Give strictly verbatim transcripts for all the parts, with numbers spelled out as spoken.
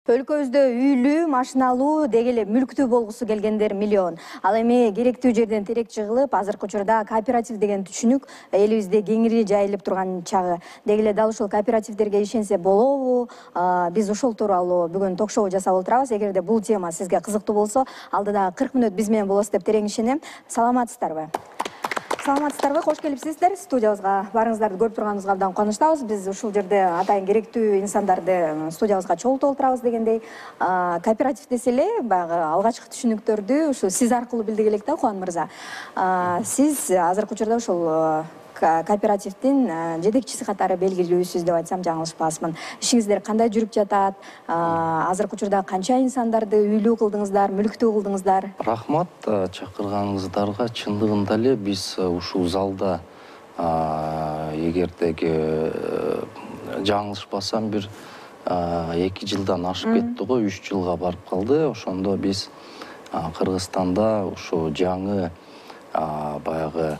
Өлкөбүздө үйлүү, машиналуу, деги эле мүлктүү болгусу келгендер миллион. Ал эми керектүү жерден терек жыгылып, азыркы учурда кооператив деген түшүнүк элибизде кеңири жайылып турган чагы. Деги эле дал ушул кооперативдерге ишенсе болобу? Биз ушул тууралуу бүгүн ток-шоу жасап отурабыз. Эгерде бул тема сизге кызыктуу болсо, алдыда кырк мүнөт биз менен болосуз деп терең ишенем. Саламатсыздарбы? Саламатсыздарбы? Кош келипсиздер. Студиябызга барыңыздарды көрүп турганыбызга абдан кубанычтабыз. Биз ушул жерде атайын керектүү инсандарды студиябызга чогултуп отурабыз дегендей. Кооператив десе эле баягы алгачкы түшүнүктөрдү ушу сиз аркылуу билдик элек да, Кубан мырза. Сиз азыркы учурда ушул кооперативдин жетекчиси катары белгилүүсүз деп айтсам жаңылышпасмын. Ишиңиздер кандай жүрүп жатат? Азыркы учурда канча инсандарды үйлүү кылдыңыздар, мүлктүү кылдыңыздар? Рахмат чакырганыңыздарга. Чындыгында эле биз ушул залда эгердеги жаңылышпасам бир эки жылдан ашып кетти го, үч жылга барып калды. Ошондо биз Кыргызстанда ушу жаңы баягы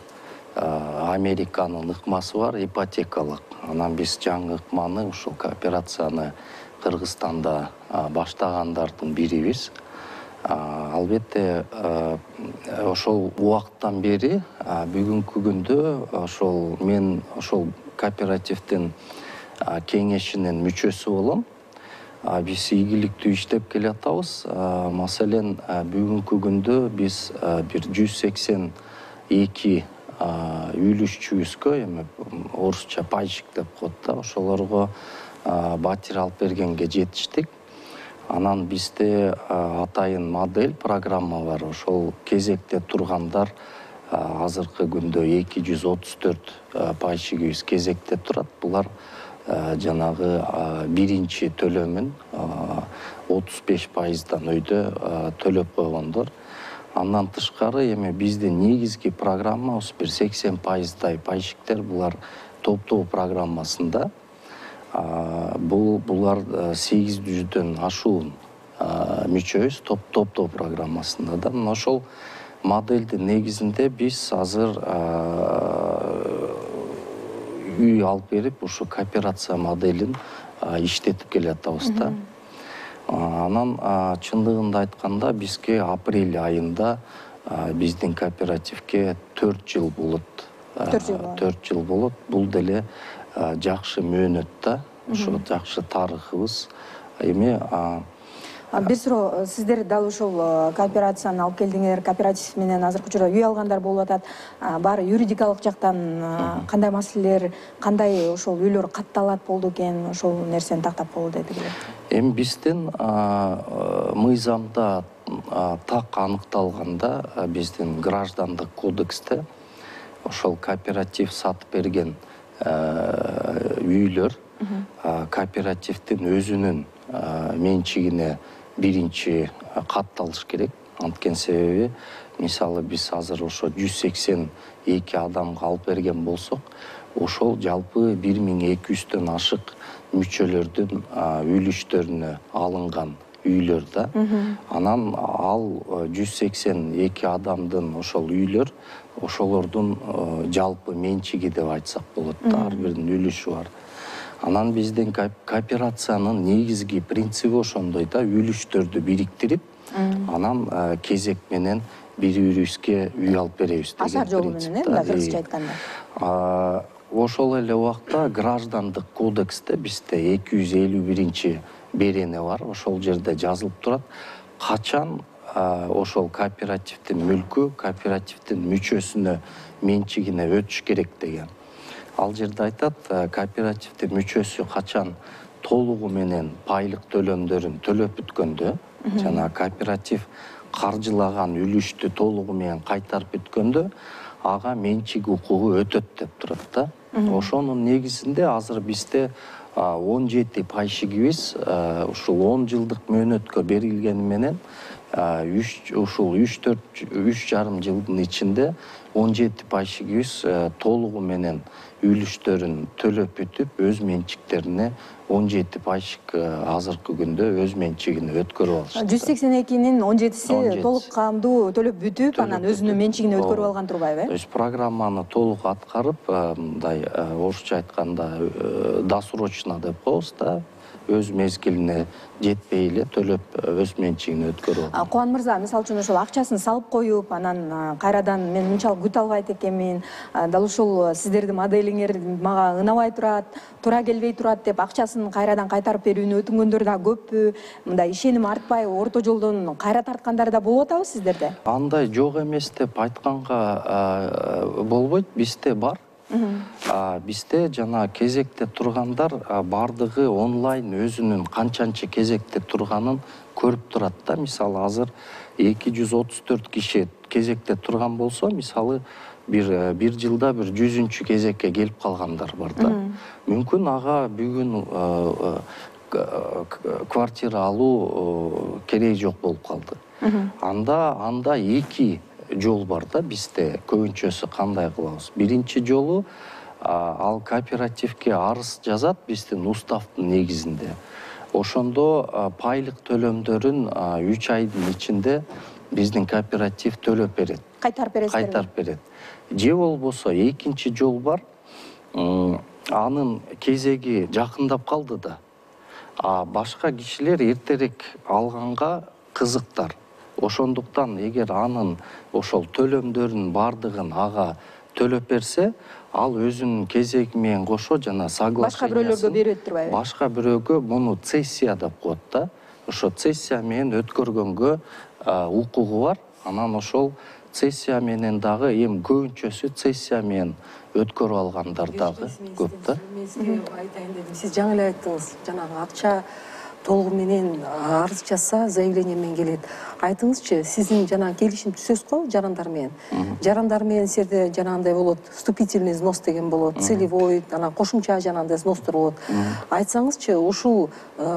Американын ыкмасы бар, ипотекалык. Анан биз жаңы ыкманы, ушул кооперацияны Кыргызстанда баштагандардын бирибиз. Албетте, ошол убакыттан бери бүгүнкү күндө ошол мен ошол кооперативдин кеңешинин мүчөсү болом. Биз ийгиликтүү иштеп келатабыз. Маселен, бүгүнкү күндө биз бир жүз сексен эки үйлүшчүбүзгө, эми орусча пайщик деп коет да, ошолорго батир алып бергенге жетиштик. Анан бизде атайын модель, программа бар. Ошол кезекте тургандар азыркы күндө эки жүз отуз төрт пайщигибиз кезекте турат. Булар жанагы биринчи төлөмүн отуз беш пайыздан өйдө төлөп койгондор. Андан тышкары эми биздин негизги программа бир сексен пайыздай пайщиктер, булар топтоо программасында. Бул булар сегиз жүздөн ашуун мүчөбүз топтоо программасында да. Мына ошол модельдин негизинде биз азыр үй алып берип, ушу кооперация моделин иштетип келатабыз да. Анан чындыгында айтканда бизге апрель айында биздин кооперативге төрт жыл болот. төрт жыл болот. Бул деле жакшы мөөнөт да. Ошо жакшы тарыхыбыз. Эми бир суроо, сиздер дал ушул кооперацияны алып келдиңер, кооператив менен азыркы учурда үй алгандар болуп атат. Баары юридикалык жактан кандай маселелер, кандай ошол үйлөр катталат болду экен, ошол нерсени тактап болду дедик эле. Эми биздин мыйзамда так аныкталганда, биздин граждандык кодексте ошол кооператив сатып берген үйлөр кооперативдин өзүнүн менчигине биринчи катталыш керек. Анткени себеби, мисалы биз азыр ошо жүз сексен эки адамга алып берген болсок, ошол жалпы бир миң эки жүздөн ашык мүчөлөрдүн үлүштөрүнө алынган үйлөр да. Анан ал жүз сексен эки адамдын ошол үйлөр, ошолордун жалпы менчиги деп айтсак болот да, ар биринин үлүшү бар. Анан биздин кооперациянын негизги принциби ошондой да, үлүштөрдү бириктирип, анан кезек менен бири-бирибизге үй алып беребиз деген принцип. Ашар жолу менен, э, кыргызча айтканда. Ошол эле убакта граждандык кодексте бизде эки жүз элүү биринчи берене бар. Ошол жерде жазылып турат, качан ошол кооперативдин мүлкү кооперативдин мүчөсүнө менчигине өтүш керек деген. Ал жерде айтат, кооперативдин мүчөсү качан толугу менен пайлык төлөмдөрүн төлөп бүткөндө, жана кооператив каржылаган үлүштү толугу менен кайтарып бүткөндө, ага менчик укугу өтөт деп турат да. Ошонун негизинде азыр бизде он жети пайщигибиз ушул он жылдык мөөнөткө берилгени менен ушул үч төрт үч жарым жылдын ичинде он жети пайщигибиз толугу менен үлүштөрүн төлөп бүтүп, өз менчиктерине он жети пайщик азыркы күндө өз менчигине өткөрүп алышты. жүз сексен экинин он жетиси толук каамдуу төлөп бүтүп, анан өзүнүн менчигине өткөрүп алган турбайбы, э? То есть программаны толук аткарып, мындай орусча айтканда досрочно деп коебуз да, өз мезгилине жетпей эле төлөп өз менчигине өткөрүп алат. Кубан мырза, мисалы үчүн ошол акчасын салып коюп, анан кайрадан мен мынчалык күтө албайт экенмин, дал ушул сиздердин моделиңер мага ынабай турат, туура келбей турат деп акчасын кайрадан кайтарып берүүнү өтүнгөндөр да көппү? Мындай ишеним артпай, орто жолдон кайра тарткандар да болуп атабы сиздерде? Андай жок эмес деп айтканга болбойт, бизде бар. Бизде жана кезекте тургандар бардыгы онлайн өзүнүн канчанчы кезекте турганын көрүп турат да. Мисалы азыр эки жүз отуз төрт киши кезекте турган болсо, мисалы бир бир жылда бир жүзүнчү кезекке келип калгандар бар да. Мүмкүн ага бүгүн квартира алуу кереги жок болуп калды. Анда анда эки жол бар да бизде. Көбүнчөсү кандай кылабыз? Биринчи жолу ал кооперативге арыз жазат биздин уставдын негизинде. Ошондо пайлык төлөмдөрүн үч айдын ичинде биздин кооператив төлөп берет. Кайтарып бересиздерби? Кайтарып берет. Же болбосо экинчи жол бар. Анын кезеги жакындап калды да. А башка кишилер эртерээк алганга кызыктар. Ошондуктан эгер анын ошол төлөмдөрүнүн бардыгын ага төлөп берсе, ал өзүнүн кезеги менен кошо жана соглашениясын башка бирөөлөргө берет турбайбы? Башка бирөөгө муну цессия деп коет да. Ошо цессия менен өткөргөнгө укугу бар. Анан ошол цессия менен дагы эми көбүнчөсү цессия менен өткөрүп алгандар дагы көп да. Мен сизге айтайын дедим. Сиз жаңы эле айттыңыз, жанагы акча толугу менен арыз жазса, заявление менен келет. Айтыңызчы, сиздин жана келишим түзөсүз го жарандар менен. Жарандар менен силерде жанагындай болот, вступительный взнос деген болот, целевой, анан кошумча жанагындай взнostор болот. Айтсаңызчы, ушул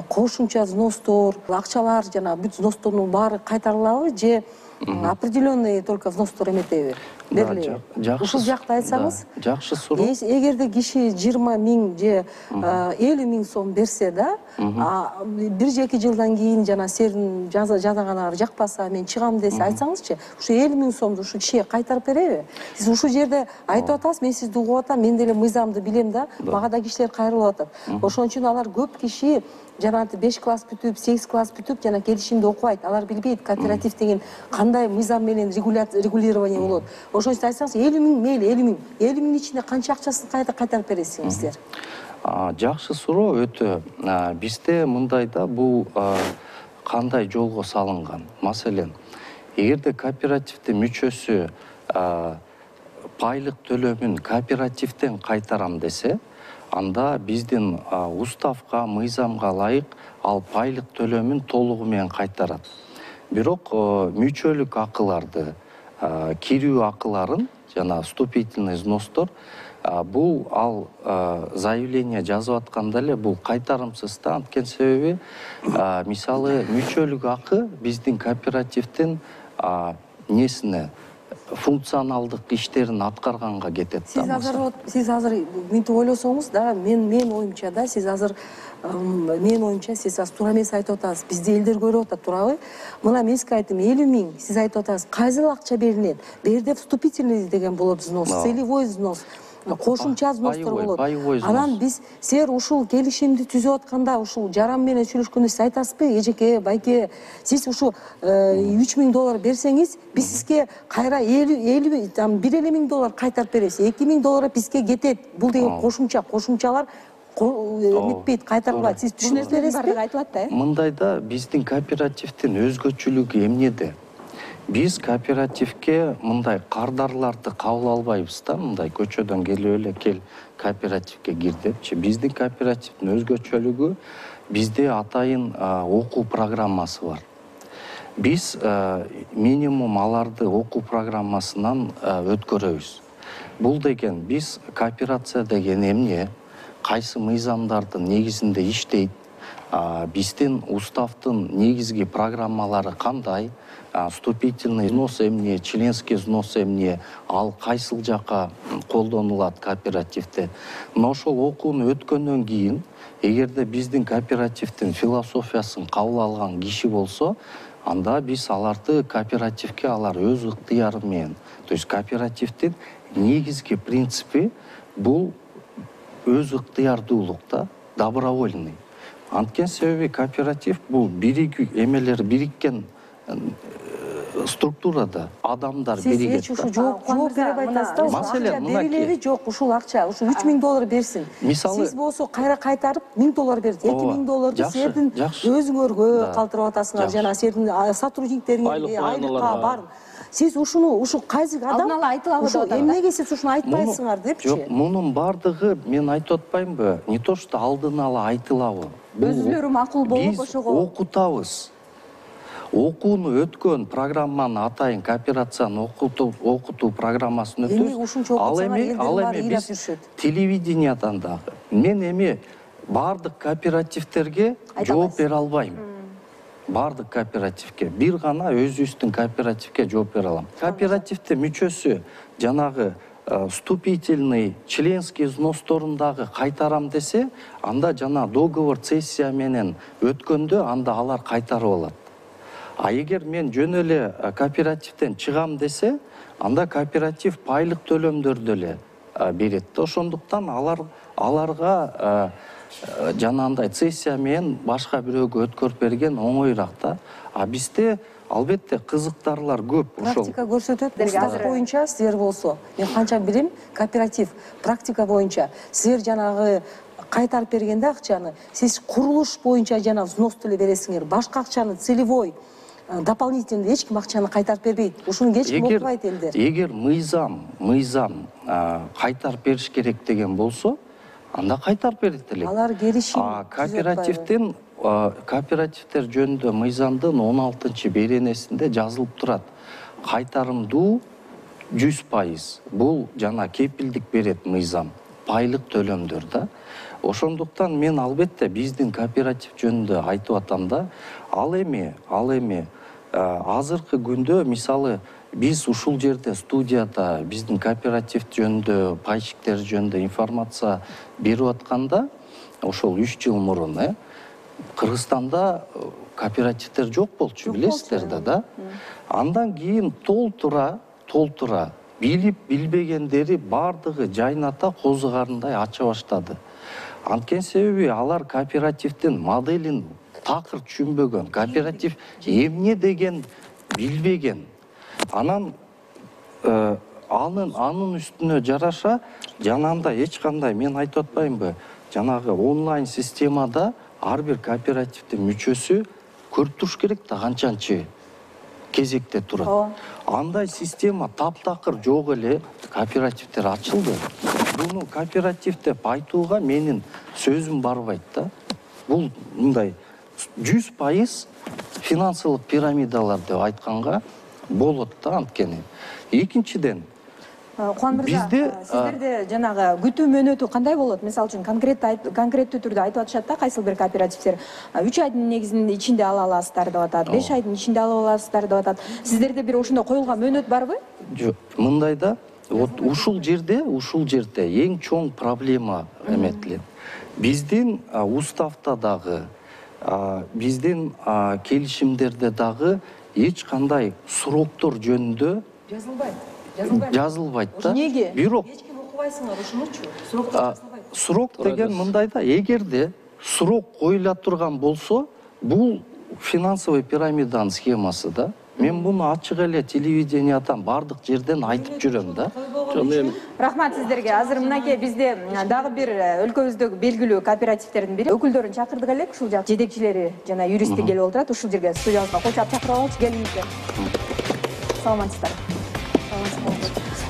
кошумча взнostор, акчалар жана бүт взностордун баары кайтарылабы же определенный только взнostор эметеби? Берилеби? Ушул жакты айтсаңыз. Жакшы суроо. Эгерде киши жыйырма миң же элүү миң сом берсе да, бир же эки жылдан кийин жана силердин жазаганыңар жакпаса, мен чыгам десе, айтсаңызчы, ушу элүү миң сомду ушу кишиге кайтарып береби? Сиз ушул жерде айтып атасыз, мен сизди угуп атам, мен деле мыйзамды билем да, мага да кишилер кайрылып атат. Ошон үчүн алар көп киши жанагы беш класс бүтүп, сегиз класс бүтүп, жана келишимди окубайт. Алар билбейт кооператив деген кандай мыйзам менен регулирование болот. Ошон үчүн айтсаңыз, элүү миң мейли, элүү миң. элүү миңдин ичинде канча акчасын кайда кайтарып бересиңиздер? Жакшы суроо өтө. Бизде мындай да, бул кандай жолго салынган? Маселен, эгерде кооперативдин мүчөсү пайлык төлөмүн кооперативден кайтарам десе, анда биздин уставга, мыйзамга ылайык ал пайлык төлөмүн толугу менен кайтарат. Бирок мүчөлүк акыларды, кирүү акыларын жана вступительный взнostор бул ал заявление жазып атканда эле бул кайтарымсыз да. Анткени себеби мисалы мүчөлүк акы биздин кооперативдин несине функционалдык иштерин аткарганга кетет да. Сиз азыр сиз азыр мынтип ойлосоңуз да, мен мен оюмча да, сиз азыр мен оюмча сиз азыр туура эмес айтып атасыз. Бизди элдер көрүп атат, туурабы? Мына мен сизге айттым, элүү миң, сиз айтып атасыз, кайсыл акча берилет? Бул жерде вступительный деген болот взнос, целевой взнос, кошумча взнostор болот. Анан биз силер ушул келишимди түзүп атканда, ушул жаран менен сүйлөшкөндө сиз айтасызбы, эжеке, байке, сиз ушу үч миң доллар берсеңиз, биз сизге кайра элүү там бир элүү миң доллар кайтарып беребиз. эки миң доллар бизге кетет. Бул деген кошумча, кошумчалар эметпейт, кайтарылбайт. Сиз түшүнүп бересизби? Айтылат да, э? Мындай да, биздин кооперативдин өзгөчөлүгү эмнеде? Биз кооперативге мындай кардарларды кабыл албайбыз да, мындай көчөдөн келип эле кел кооперативге кир депчи. Биздин кооперативдин өзгөчөлүгү, бизде атайын окуу программасы бар. Биз минимум аларды окуу программасынан өткөрөбүз. Бул деген биз кооперация деген эмне, кайсы мыйзамдардын негизинде иштейт, биздин уставдын негизги программалары кандай, вступительный взнос эмне, членский взнос эмне, ал кайсыл жака колдонулат кооперативде. Мына ошол окууну өткөндөн кийин, эгерде биздин кооперативдин философиясын кабыл алган киши болсо, анда биз аларды кооперативге алар өз ыктыяры менен, то есть кооперативдин негизги принципи бул өз ыктыярдуулук да, добровольный. Анткени себеби кооператив бул биригүү эмелери бириккен структурада адамдар биригет. Сиз ушу жооп жооп берип айтасыз да, маселен берилеби жок, ушул акча, ушу үч миң доллар берсин. Сиз болсо кайра кайтарып миң доллар берет. эки миң долларду силердин өзүңөргө калтырып атасыңар, жана силердин сотрудниктериңерге айлыкка барын. Сиз ушуну ушу кайсы адам алдын ала айтылабы деп атат. Эмнеге сиз ушуну айтпайсыңар депчи? Жок, мунун бардыгы мен айтып атпаймынбы? Не то что алдын ала айтылабы. Өзүлөрү макул болуп ошого биз окутабыз. Окууну өткөн программаны атайын кооперацияны окутуу окутуу программасын өтөбүз. Ал эми ал эми биз телевидениядан дагы мен эми бардык кооперативтерге жооп бере албайм. Бардык кооперативге бир гана өзүбүздүн кооперативге жооп бере алам. Кооперативдин мүчөсү жанагы вступительный членский взносторун дагы кайтарам десе, анда жана договор цессия менен өткөндө анда алар кайтарып алат. А эгер мен жөн эле кооперативден чыгам десе, анда кооператив пайлык төлөмдөрдү эле берет. Ошондуктан алар аларга жанагындай цессия менен башка бирөөгө өткөрүп берген оңоюраак да. А бизде албетте кызыктарлар көп. Практика көрсөтөт. Устав боюнча силер болсо, мен канча билем, кооператив практика боюнча силер жанагы кайтарып бергенде акчаны сиз курулуш боюнча жана взносту эле бересиңер. Башка акчаны целевой дополнительный эч ким акчаны кайтарып бербейт. Ушуну эч ким окубайт элдер. Эгер мыйзам, мыйзам кайтарып бериш керек деген болсо, анда кайтарып берет элек. Алар келишим. А кооперативдин кооперативдер жөнүндө мыйзамдын он алтынчы беренесинде жазылып турат. Кайтарымдуу жүз пайыз. Бул жана кепилдик берет мыйзам. Пайлык төлөмдөр да. Ошондуктан мен албетте биздин кооператив жөнүндө айтып атам да, ал эми, ал эми азыркы күндө мисалы биз ушул жерде студияда биздин кооператив жөнүндө, пайщиктер жөнүндө информация берип атканда, ошол үч жыл мурун, э, Кыргызстанда кооперативдер жок болчу, билесиздер да, да. Андан кийин толтура, толтура билип билбегендери бардыгы жайната козугарындай ача баштады. Анткени себеби алар кооперативдин моделин такыр түшүнбөгөн, кооператив эмне деген билбеген. Анан анын анын үстүнө жараша жанагындай эч кандай, мен айтып атпаймынбы, жанагы онлайн системада ар бир кооперативдин мүчөсү көрүп туруш керек да канчанчы кезекте турат. Андай система таптакыр жок эле кооперативдер ачылды. Буну кооператив деп айтууга менин сөзүм барбайт да. Бул мындай жүз пайыз финансылык пирамидалар деп айтканга болот да анткени. Экинчиден, Кубан мырза, сиздерде жанагы күтүү мөөнөтү кандай болот? Мисалы үчүн конкреттүү конкреттүү түрдө айтып атышат да, кайсыл бир кооперативдер үч айдын негизинде ичинде ала аласыздар деп атат, беш айдын ичинде ала аласыздар деп атат. Сиздерде бир ошондой коюлган мөөнөт барбы? Жок, мындай да, вот ушул жерде, ушул жерде эң чоң проблема эметилет. Биздин уставда дагы, биздин келишимдерде дагы эч кандай сроктор жөнүндө жазылбайт. Жазылбайт да. Неге? Бирок Эч ким окубайсыңар ушунучу. Сроктор жазылбайт. Срок деген мындайда, эгерде срок коюла турган болсо, бул финансовый пирамиданын схемасы да. Мен буну ачык эле телевидениядан бардык жерден айтып жүрөм да. Рахмат сиздерге. Азыр мынакей бизде дагы бир өлкөбүздөгү белгилүү кооперативтердин бири өкүлдөрүн чакырдык элек, ушул жак жетекчилери жана юристтер келип отурат. Ушул жерге студиябызга кочоп чакырып алчы, келиңиздер. Саламатсыздар.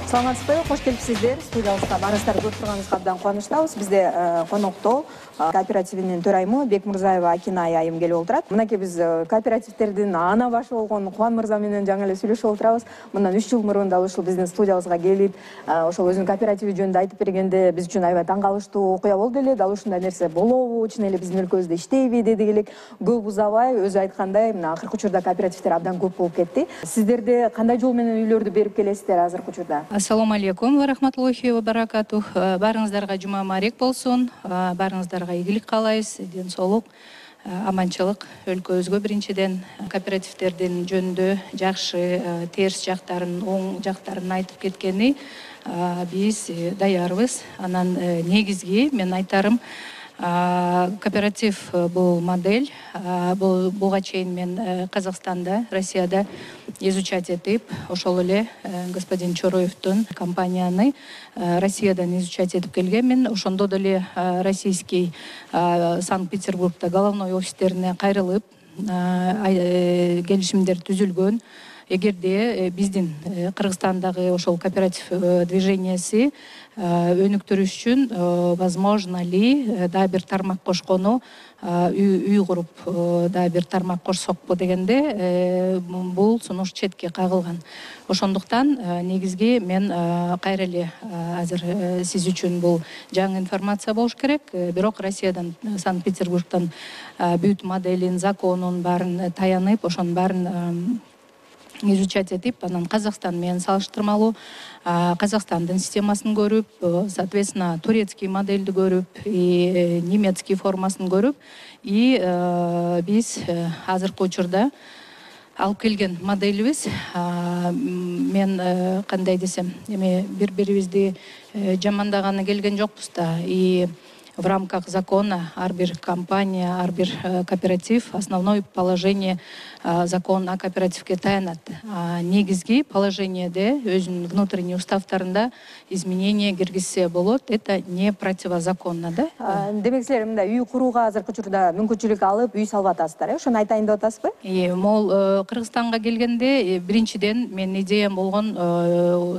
Саламатсызбы, кош келипсиздер. Студиябызга барыңыздар, көрүп турганыбызга абдан кубанычтабыз. Бизде конокто кооперативинин төрайымы Бекмурзаева Акинай айым келип отурат. Мынакей биз кооперативтердин ана башы болгон Кубан мырза менен жаңы эле сүйлөшүп отурабыз. Мындан үч жыл мурун дал ушул биздин студиябызга келип, ошол өзүнүн кооперативи жөнүндө айтып бергенде биз үчүн аябай таң калыштуу окуя болду эле. Дал ушундай нерсе болобу, чын эле биздин өлкөбүздө иштейби дедик элек. Көп узабай, өзү айткандай, мына акыркы учурда кооперативдер абдан көп болуп кетти. Сиздерде кандай жол менен үйлөрдү берип келесиздер азыркы учурда? Ассаламу алейкум ва рахматуллахи ва баракатух. Барыңыздарга жума мубарак болсун. Барыңыздарга ийгилик каалайбыз, ден соолук, аманчылык. Өлкөбүзгө биринчиден кооперативдердин жөнүндө жакшы, терс жактарын, оң жактарын айтып кеткени биз даярбыз. Анан негизги мен айтарым, Кооператив бул модель. Буга чейин мен Казакстанда, Россияда изучать этип, ошол эле господин Чороевдун компанияны Россиядан изучать этип келгенмин. Ошондо деле российский Санкт-Петербургда головной офистерине кайрылып келишимдер түзүлгөн. Эгерде биздин Кыргызстандагы ошол кооператив движенияси өнүктүрүш үчүн возможно ли дагы бир тармак кошкону, үй куруп дагы бир тармак кошсокпу дегенде бул сунуш четке кагылган. Ошондуктан негизги мен кайра эле азыр сиз үчүн бул жаңы информация болуш керек. Бирок Россиядан, Санкт-Петербургдан бүт моделин, законун баарын таянып, ошонун баарын изучать этип, анан Казакстан менен салыштырмалуу Казакстандын системасын көрүп, соответственно, турецкий модельди көрүп, и немецкий формасын көрүп, и биз азыркы учурда алып келген моделибиз, мен кандай десем, эми бири-бирибизди жамандаганы келген жокпуз да, и в рамках закона ар бир компания, ар бир кооператив основное положение закон о кооперативке таянат. Негизги положениеде өзүнүн внутренний уставтарында изменения киргизсе болот. Это не противозаконно, да? Демек силер мындай үй курууга азыркы учурда мүмкүнчүлүк алып, үй салып атасыздар, э? Ошону айтайын деп атасызбы? И мол Кыргызстанга келгенде биринчиден мен идеям болгон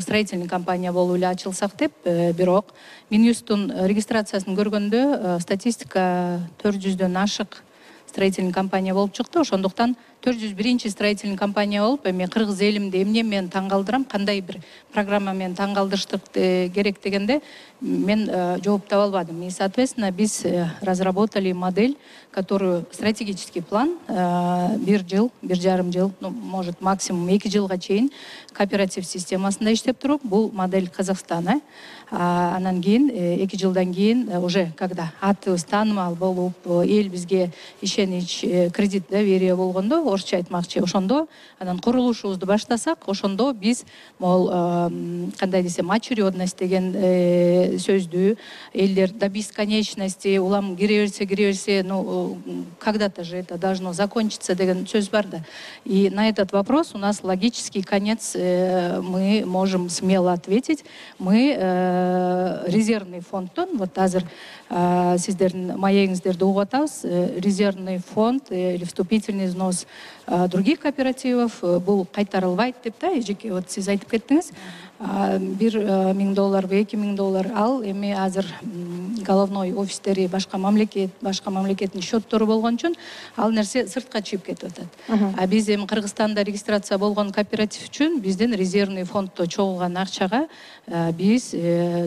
строительный компания болуп эле ачылсак деп, бирок Минюсттун регистрациясын көргөндө статистика төрт жүздөн ашык строительный компания болуп чыкты. Ошондуктан төрт жүз биринчи строительный компания болуп, эми кыргыз элимди эмне менен таң калтырам, кандай бир программа менен таң калтырыштык керек дегенде мен жооп таба албадым. И, соответственно, биз разработали модель, которую стратегический план бир жыл, бир жарым жыл, ну, может, максимум эки жылга чейин кооператив системасында иштеп туруп, бул модель Казакстана. Анан кийин эки жылдан кийин уже когда атыбыз таанымал болуп, эл бизге ишенич, кредит доверие болгондо, орусча айтмакчы, ошондо анан курулушубузду баштасак, ошондо биз мол кандай десем, очередность деген сөздү элдер до бесконечности улам кире берсе кире берсе, ну когда-то же это должно закончиться деген сөз бар да. И на этот вопрос у нас логический конец, мы можем смело ответить. Мы резервный фондтон, вот азыр сиздердин маегиңиздерди угуп атабыз, резервный фонд или вступительный взнос других кооперативов бул кайтарылбайт деп да, эжеке вот сиз айтып кеттиңиз. бир миң долларбы, эки миң доллар ал эми азыр головной офистери башка мамлекет, башка мамлекеттин счеттору болгон үчүн ал нерсе сыртка чыгып кетип атат. А биз эми Кыргызстанда регистрация болгон кооператив үчүн биздин резервный фонддо чогулган акчага биз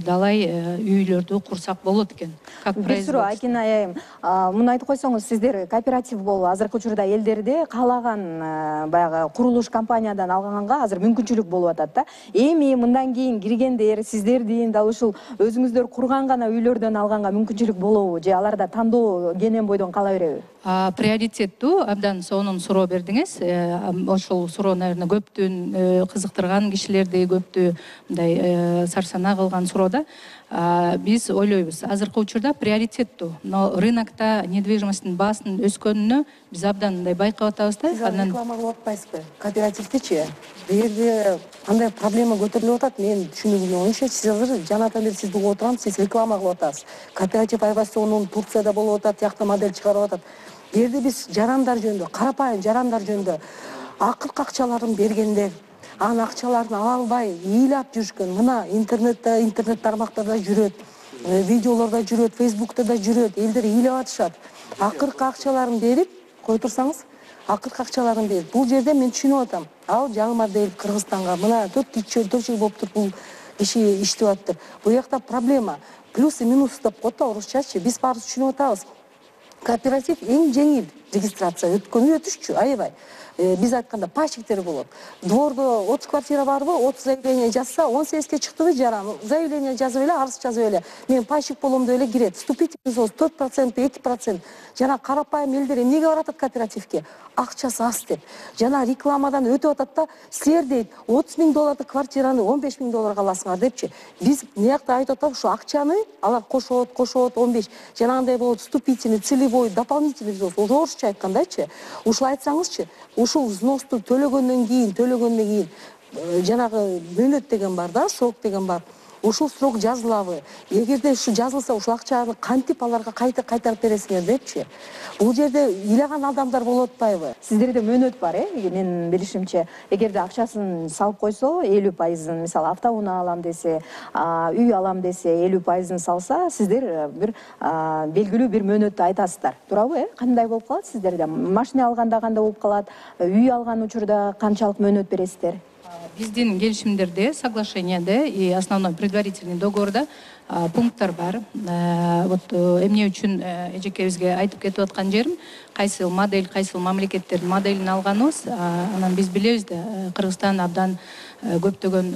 далай үйлөрдү курсак болот экен. Как производство. Айкин айым, муну айтып койсоңуз, сиздер кооператив болуп азыркы учурда элдерде каалаган баягы курулуш компаниядан алганга азыр мүмкүнчүлүк болуп атат да. Эми мындан кийин киргендер, сиздердин дал ушул өзүңүздөр курган гана үйлөрдөн алганга мүмкүнчүлүк болобу же аларда тандоо кенен бойдон кала береби? Приоритеттүү абдан сонун суроо бердиңиз. Ошол суроо, наверное, көптүн кызыктырган кишилерди, көптү мындай сарсанаа кылган суроо да. Биз ойлойбуз, азыркы учурда приоритеттүү, но рынокто недвижимосттун баасын өскөнүнө биз абдан мындай байкап атабыз да. Сиз реклама кылып атпайсызбы? Кооперативдичи бул жерде кандай проблема көтөрүлүп атат? Мен түшүнүгүм оюнча сиз азыр жанатан бери сизди угуп отурам, сиз реклама кылып атасыз. Кооператив айбастонун Турцияда болуп атат, тиякта модель чыгарып атат. Бул жерде биз жарандар жөнүндө, карапайым жарандар жөнүндө акыркы акчаларын бергендер, анын акчаларын ала албай ыйлап жүрүшкөн. Мына интернетте, интернет тармактарда жүрөт, видеолордо жүрөт, фейсбукта да жүрөт, элдер ыйлап атышат. Акыркы акчаларын берип кой турсаңыз, акыркы акчаларын берип. Бул жерде мен түшүнүп атам. Ал жаңы модель Кыргызстанга мына төрт жыл болуп туруп бул киши иштеп атыптыр. Бул жакта проблема плюс и минус деп коет да орусчачы. Биз баарыбыз түшүнүп атабыз. Кооператив эң жеңил регистрация өткөнү өтүшчү, аябай. биз айтканда пайщиктер болот. Двордо отуз квартира барбы, отуз заявление жазса, он сегизге чыктыбы жарам. Заявление жазып эле, арыз жазып эле. Мен пайщик болом деп эле кирет. Вступительный взнос төрт процент, эки процент. Жана карапайым элдер эмнеге баратат кооперативге? Акчасы аз деп. Жана рекламадан өтүп атат да, силер дейт, отуз миң доллардык квартираны он беш миң долларга аласыңар депчи. Биз мыякта айтып атабыз, ушу акчаны алар кошот, кошот он беш. Жанагындай болот, вступительный, целевой, дополнительный взнос. Орусча айткандачы. Ушул айтсаңызчы, ушул взносту төлөгөндөн кийин, төлөгөндөн кийин жанагы мөөнөт деген бар да, срок деген бар. Ушул срок жазылабы? Эгерде ушу жазылса, ушул акчаны кантип аларга кайта кайтарып бересиңер депчи. Бул жерде ыйлаган адамдар болуп атпайбы? Сиздерде мөөнөт бар, э? Менин билишимче, эгерде акчасын салып койсо, элүү пайызын, мисалы, автоунаа алам десе, үй алам десе, элүү пайызын салса, сиздер бир белгилүү бир мөөнөттү айтасыздар. Туурабы, э? Кандай болуп калат сиздерде? Машина алганда кандай болуп калат? Үй алган учурда канчалык мөөнөт бересиздер? Биздин келишимдерде, соглашенияда и основной предварительный договорда пункттар бар. Вот эмне үчүн эжекебизге айтып кетип аткан жерим, кайсыл модель, кайсыл мамлекеттердин моделин алганыбыз, анан биз билебиз да, Кыргызстан абдан көптөгөн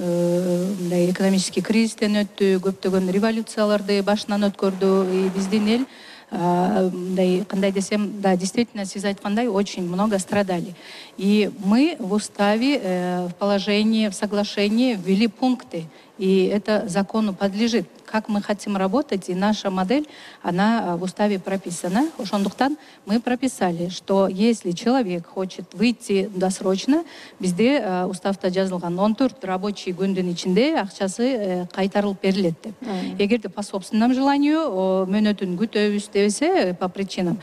мындай экономический кризистен өттү, көптөгөн революцияларды башынан өткөрдү. Биздин эл мындай кандай десем, да, действительно, сиз айткандай, очень много страдали. И мы в уставе, в положении, в соглашении ввели пункты, и это закону подлежит. Как мы хотим работать, и наша модель, она в уставе прописана. Ошондуктан мы прописали, что если человек хочет выйти досрочно, бизде уставда жазылган он төрт рабочий күндүн ичинде акчасы кайтарылып берилет деп. Эгерде по собственному желанию мөөнөтүн күтөбүз десе, по причинам,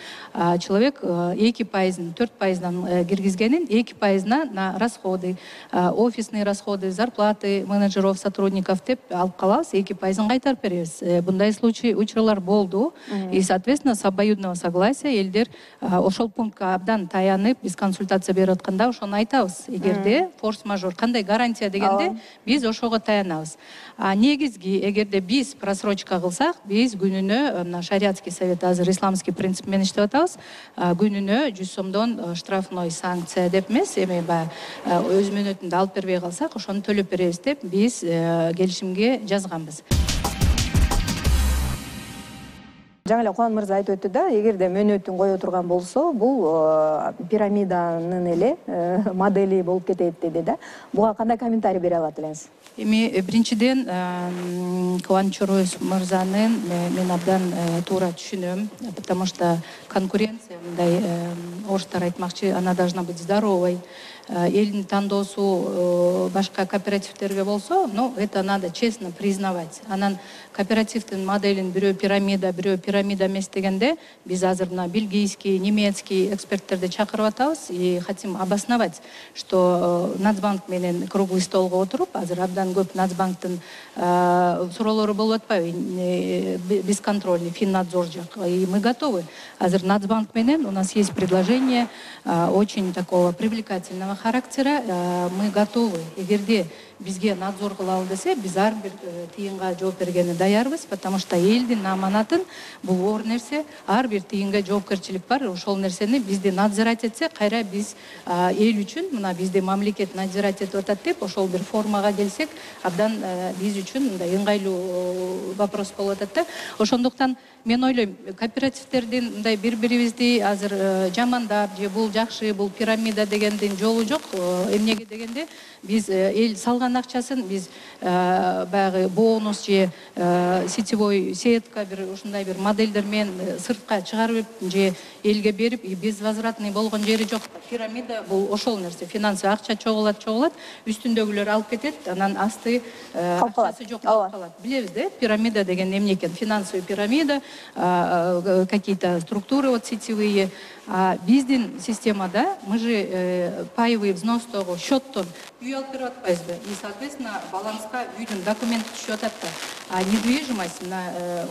человек эки пайызын, төрт пайыздан киргизгенин эки пайызына на расходы, офисные расходы, зарплаты менеджеров, сотрудников деп алып калабыз, эки пайызын кайтарып беребиз. Бундай случай, учурлар болду. И, соответственно, с обоюдного согласия элдер ошол пунктка абдан таянып, биз консультация берип атканда ошону айтабыз. Эгерде форс-мажор, кандай гарантия дегенде, биз ошого таянабыз. А негизги, эгерде биз просрочка кылсак, биз күнүнө, мына шариатский совет азыр исламский принцип менен иштеп атабыз, күнүнө жүз сомдон штрафной санкция деп эмес, эми баягы өз мөөнөтүндө алып бербей калсак, ошону төлөп беребиз деп биз келишимге жазганбыз. Жаңы эле Кубан мырза айтып өттү да, эгерде мөөнөтүн кое турган болсо, бул пирамиданын эле модели болуп кетет деди да. Буга кандай комментарий бере алат элеңиз? Эми биринчиден Кубан Чороев мырзанын мен абдан туура түшүнөм, потому что конкуренция, мындай орустар айтмакчы, она должна быть здоровой. Элдин тандоосу башка кооперативтерге болсо, но это надо честно признавать. Анан кооперативдин моделин бирөө пирамида, бирөө пирамида эмес дегенде, биз азыр мына бельгийский, немецкий эксперттерди чакырып атабыз и хотим обосновать, что Нацбанк менен круглый столго отуруп, азыр абдан көп Нацбанктын суроолору болуп атпайбы, бесконтрольный Финнадзор жак. И мы готовы. Азыр Нацбанк менен у нас есть предложение очень такого привлекательного характера. Мы готовы. Эгерде бизге надзор кылалы десе, биз ар бир тыйынга жооп бергени даярбыз, потому что элдин аманатын бул оор нерсе, ар бир тыйынга жоопкерчилик бар. Ошол нерсени бизди надзирать этсе, кайра биз эл үчүн, мына бизде мамлекет надзирать этип атат деп, ошол бир формага келсек, абдан биз үчүн мындай ыңгайлуу вопрос болуп атат да. Ошондуктан мен ойлойм, кооперативтердин мындай бири-бирибизди азыр жамандап, же бул жакшы, бул пирамида дегендин жолу жок. Эмнеге дегенде, биз эл салган акчасын биз баягы бонус же сетевой сетка бир ушундай бир модельдер менен сыртка чыгарып же элге берип, безвозвратный болгон жери жок. Пирамида бул ошол нерсе, финансовый акча чогулат, чогулат, үстүндөгүлөр алып кетет, анан асты акчасы жок болуп калат. Билебиз да, пирамида деген эмне экен? Финансовый пирамида, какие-то структуры вот сетевые. А биздин системада мы же паевый взностогу счеттон үй алып берип атпайбызбы? И, соответственно, баланска үйдүн документи түшүп атат да. А недвижимость, мына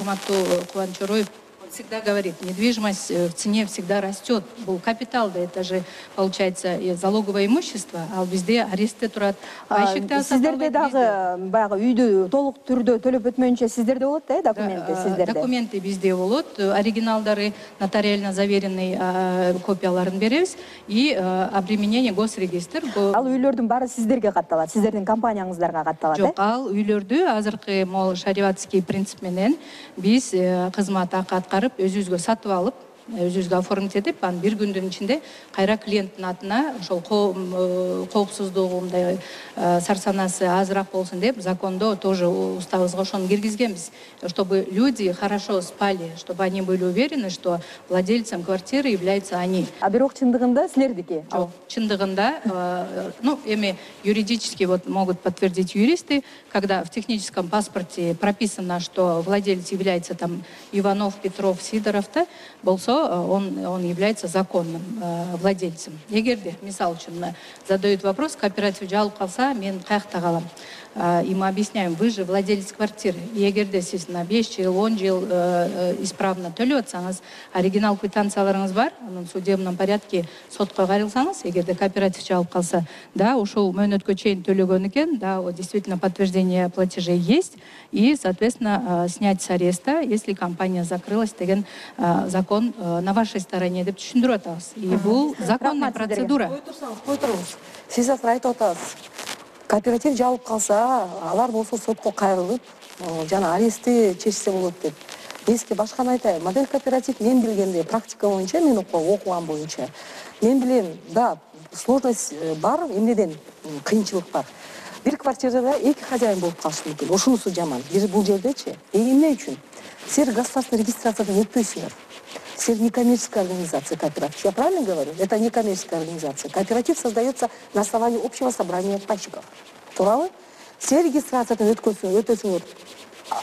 урматтуу Кубан Чороев всегда говорит, недвижимость в цене всегда растет. Был капитал, да, это же, получается, залоговое имущество, а бизде арестте турат. Сиздерде дагы баягы үйдү толук түрдө төлөп өтмөйүнчө сиздерде болот да, документи сиздерде? Документы бизде болот, оригиналдары, нотариально заверенный копияларын беребиз и обременение госрегистр. Ал үйлөрдүн баары сиздерге катталат, сиздердин компанияңыздарга катталат, э? Жок, ал үйлөрдү азыркы могул шариатский принцип менен биз кызмат акы аткарып өзүбүзгө сатып алып, өзүбүзгө оформить этип, анан бир күндүн ичинде кайра клиенттин атына ошол коопсуздугу, мындай сарсанасы азыраак болсун деп закондо тоже уставыбызга ошону киргизгенбиз, чтобы люди хорошо спали, чтобы они были уверены, что владельцем квартиры являются они. А бирок чындыгында силердики? Жок, чындыгында, ну, эми юридически вот могут подтвердить юристы, когда в техническом паспорте прописано, что владелец является там Иванов, Петров, Сидоров, да, болсо он, он является законным э, владельцем. Эгерде, мисал үчүн, задают вопрос, кооператив жалып калса, мен каякта калам. И мы объясняем, вы же владелец квартиры. И эгерде сиз на беш жыл, он жыл э, э, исправно төлөп атсаңыз, оригинал квитанцияларыңыз бар, анын судебном порядке сотко кайрылсаңыз, эгерде кооператив жалып калса, да, ушул мөөнөткө чейин төлөгөн экен, да, вот действительно подтверждение платежей есть, и, соответственно, э, снять с ареста, если компания закрылась деген э, закон э, на вашей стороне деп түшүндүрүп атабыз. И бул законная процедура. Кой турсаңыз, кой туруңуз. Сиз азыр айтып атасыз. Кооператив жабылып калса, алар болсо сотко кайрылып, жана арестти чечсе болот деп. Мен сизге башканы айтайын. Модель кооператив мен билгенде, практика боюнча, мен окуган боюнча, мен билем, да, сложность бар, эмнеден кыйынчылык бар. Бир квартирада эки хозяин болуп калышы мүмкүн. Ошунусу жаман. Бир бул жердечи. Эмне үчүн? Силер государственный регистрациядан өтпөйсүңөр. Силер некоммерческая организация кооператив. Я правильно говорю? Это некоммерческая организация. Кооператив создается на основании общего собрания пайщиков. Туурабы? Силер регистрациядан өтөсүңөр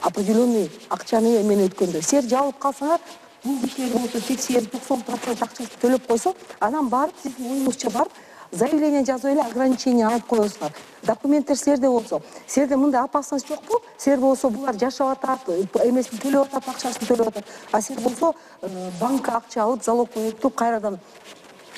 определенный акчаны эмен өткөндө. Силер жабылып калсаңар, бул кишилер болсо сексен токсон процент акчасын төлөп койсо, анан барып сиздин оюңузча барып заявление жазып эле ограничение алып коесуңар. Документтер силерде болсо, силерде мындай опасность жокпу? Силер болсо булар жашап атат, эмесин төлөп атат, акчасын төлөп атат. А силер болсо банкка акча алып, залог өтүп, кайрадан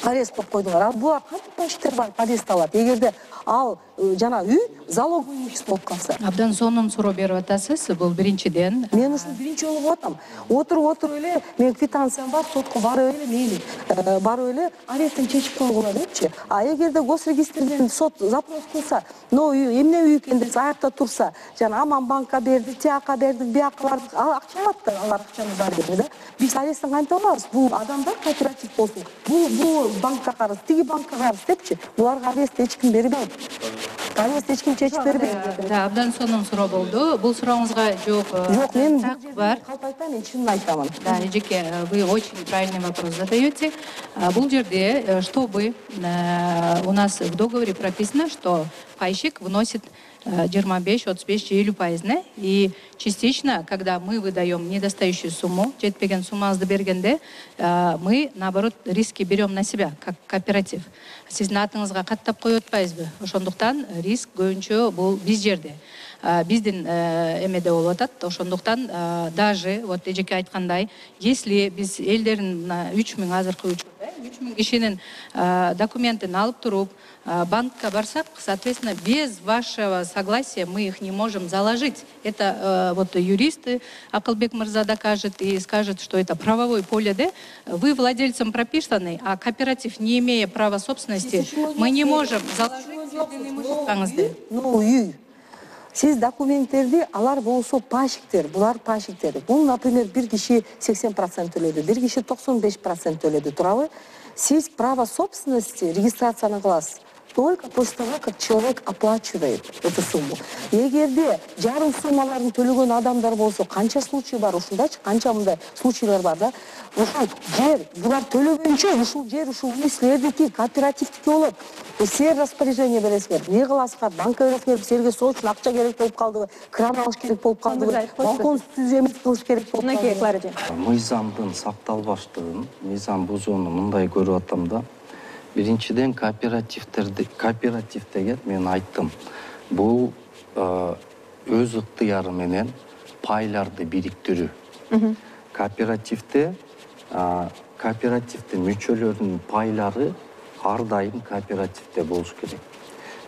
арест коюп койдуңар. А булар кантип пайщиктер барып арест алат? Эгерде ал жана үй залоговый имущество болуп калса. Абдан сонун суроо берип атасыз. Бул биринчиден. Мен ушул биринчи жолу болуп атам. Отуруп отуруп эле, мен квитанциям бар, сотко барып эле, мейли, барып эле аресттин чечип койгула депчи. А эгерде госрегистрден сот запрос кылса, но үй эмне үй экен деп аякта турса, жана аман банкка бердик, тияка бердик, бияка бардык, ал акча алат да, алар акчаны бар деп, да. Биз аресттен кантип алабыз? Бул адамдар кооператив болсун. Бул бул банкка карыз, тиги банкка карыз депчи. Буларга арест эч ким бербейт. Арест эч ким чечип бербейт. Да, абдан сонун суроо болду. Бул сурооңузга жооп Жок, мен так бар. калп айтпайм, мен чынын айтамын. Да, Эжеке, вы очень правильный вопрос задаете. Бул жерде, чтобы у нас в договоре прописано, что пайщик вносит жыйырма беш отуз беш же элүү пайызны, и частично, когда мы выдаем недостающую сумму, жетпеген суммабызды бергенде, мы, наоборот, риски берем на себя, как кооператив. Сиздин атыңызга каттап коюп атпайбызбы? Ошондуктан риск көбүнчө бул биз жерде. Биздин эмеде болуп атат. Ошондуктан даже вот Эжеке айткандай, если биз элдердин үч миң азыркы учурда үч миң кишинин документин алып туруп банкка барсак, соответственно, без вашего согласия мы их не можем заложить. Это вот юристы, Акылбек Мырза докажет и скажет, что это правовое поле, да? Вы владельцем прописаны, а кооператив, не имея права собственности, мы не можем заложить имуществоңузду. Ну, үй. Сиз документтерди, алар болсо пайщиктер, булар пайщиктер. Бул, например, бир киши сексен процент төлөдү, бир киши токсон беш процент төлөдү, туурабы? Сиз право собственности регистрацияны кыласыз только после того, как человек оплачивает эту сумму. Эгерде жарым суммаларын төлөгөн адамдар болсо, канча случай бар, ушундачы, канча мындай случайлар бар да. Ушул жер, булар төлөгөнчө ушул жер, ушул үй силердики, кооперативдики болот. Силер распоряжение бересиңер, эмне кыласыздар, банкка бересиңер, силерге сол үчүн акча керек болуп калдыбы, кран алыш керек болуп калдыбы, балкон түзөмөс кылыш керек болуп калдыбы. Мынакей, Клара эже. Мыйзамдын сакталбаштыгын, мыйзам бузууну мындай көрүп атам да. Биринчиден кооперативтерди, кооператив деген мен айттым. Бул өз ыктыяры менен пайларды бириктирүү. кооперативде кооперативдин мүчөлөрүнүн пайлары ар дайым кооперативде болуш керек.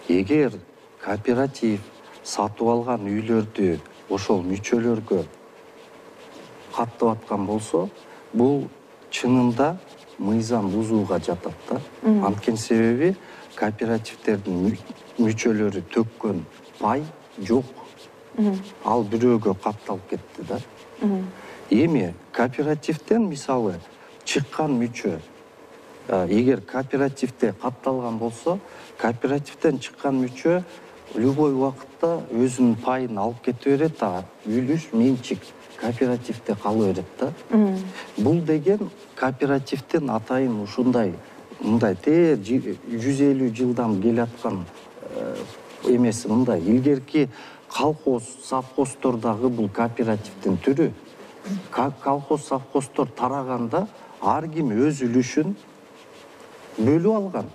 Эгер кооператив сатып алган үйлөрдү ошол мүчөлөргө каттап аткан болсо, бул чынында мыйзам бузууга жатат да. Анткени себеби кооперативдердин мүчөлөрү төккөн пай жок. Ал бирөөгө катталып кетти да. Эми кооперативден мисалы чыккан мүчө, эгер кооперативде катталган болсо, кооперативден чыккан мүчө любой убакытта өзүнүн пайын алып кете берет, а үлүш менчик кооперативде кала берет да. Бул деген кооперативдин атайын ушундай мындай те жүз элүү жылдан келаткан эмеси мындай. Илгерки колхоз, совхоздордагы бул кооперативдин түрү. Колхоз, совхоздор тараганда ар ким өз үлүшүн бөлүп алган.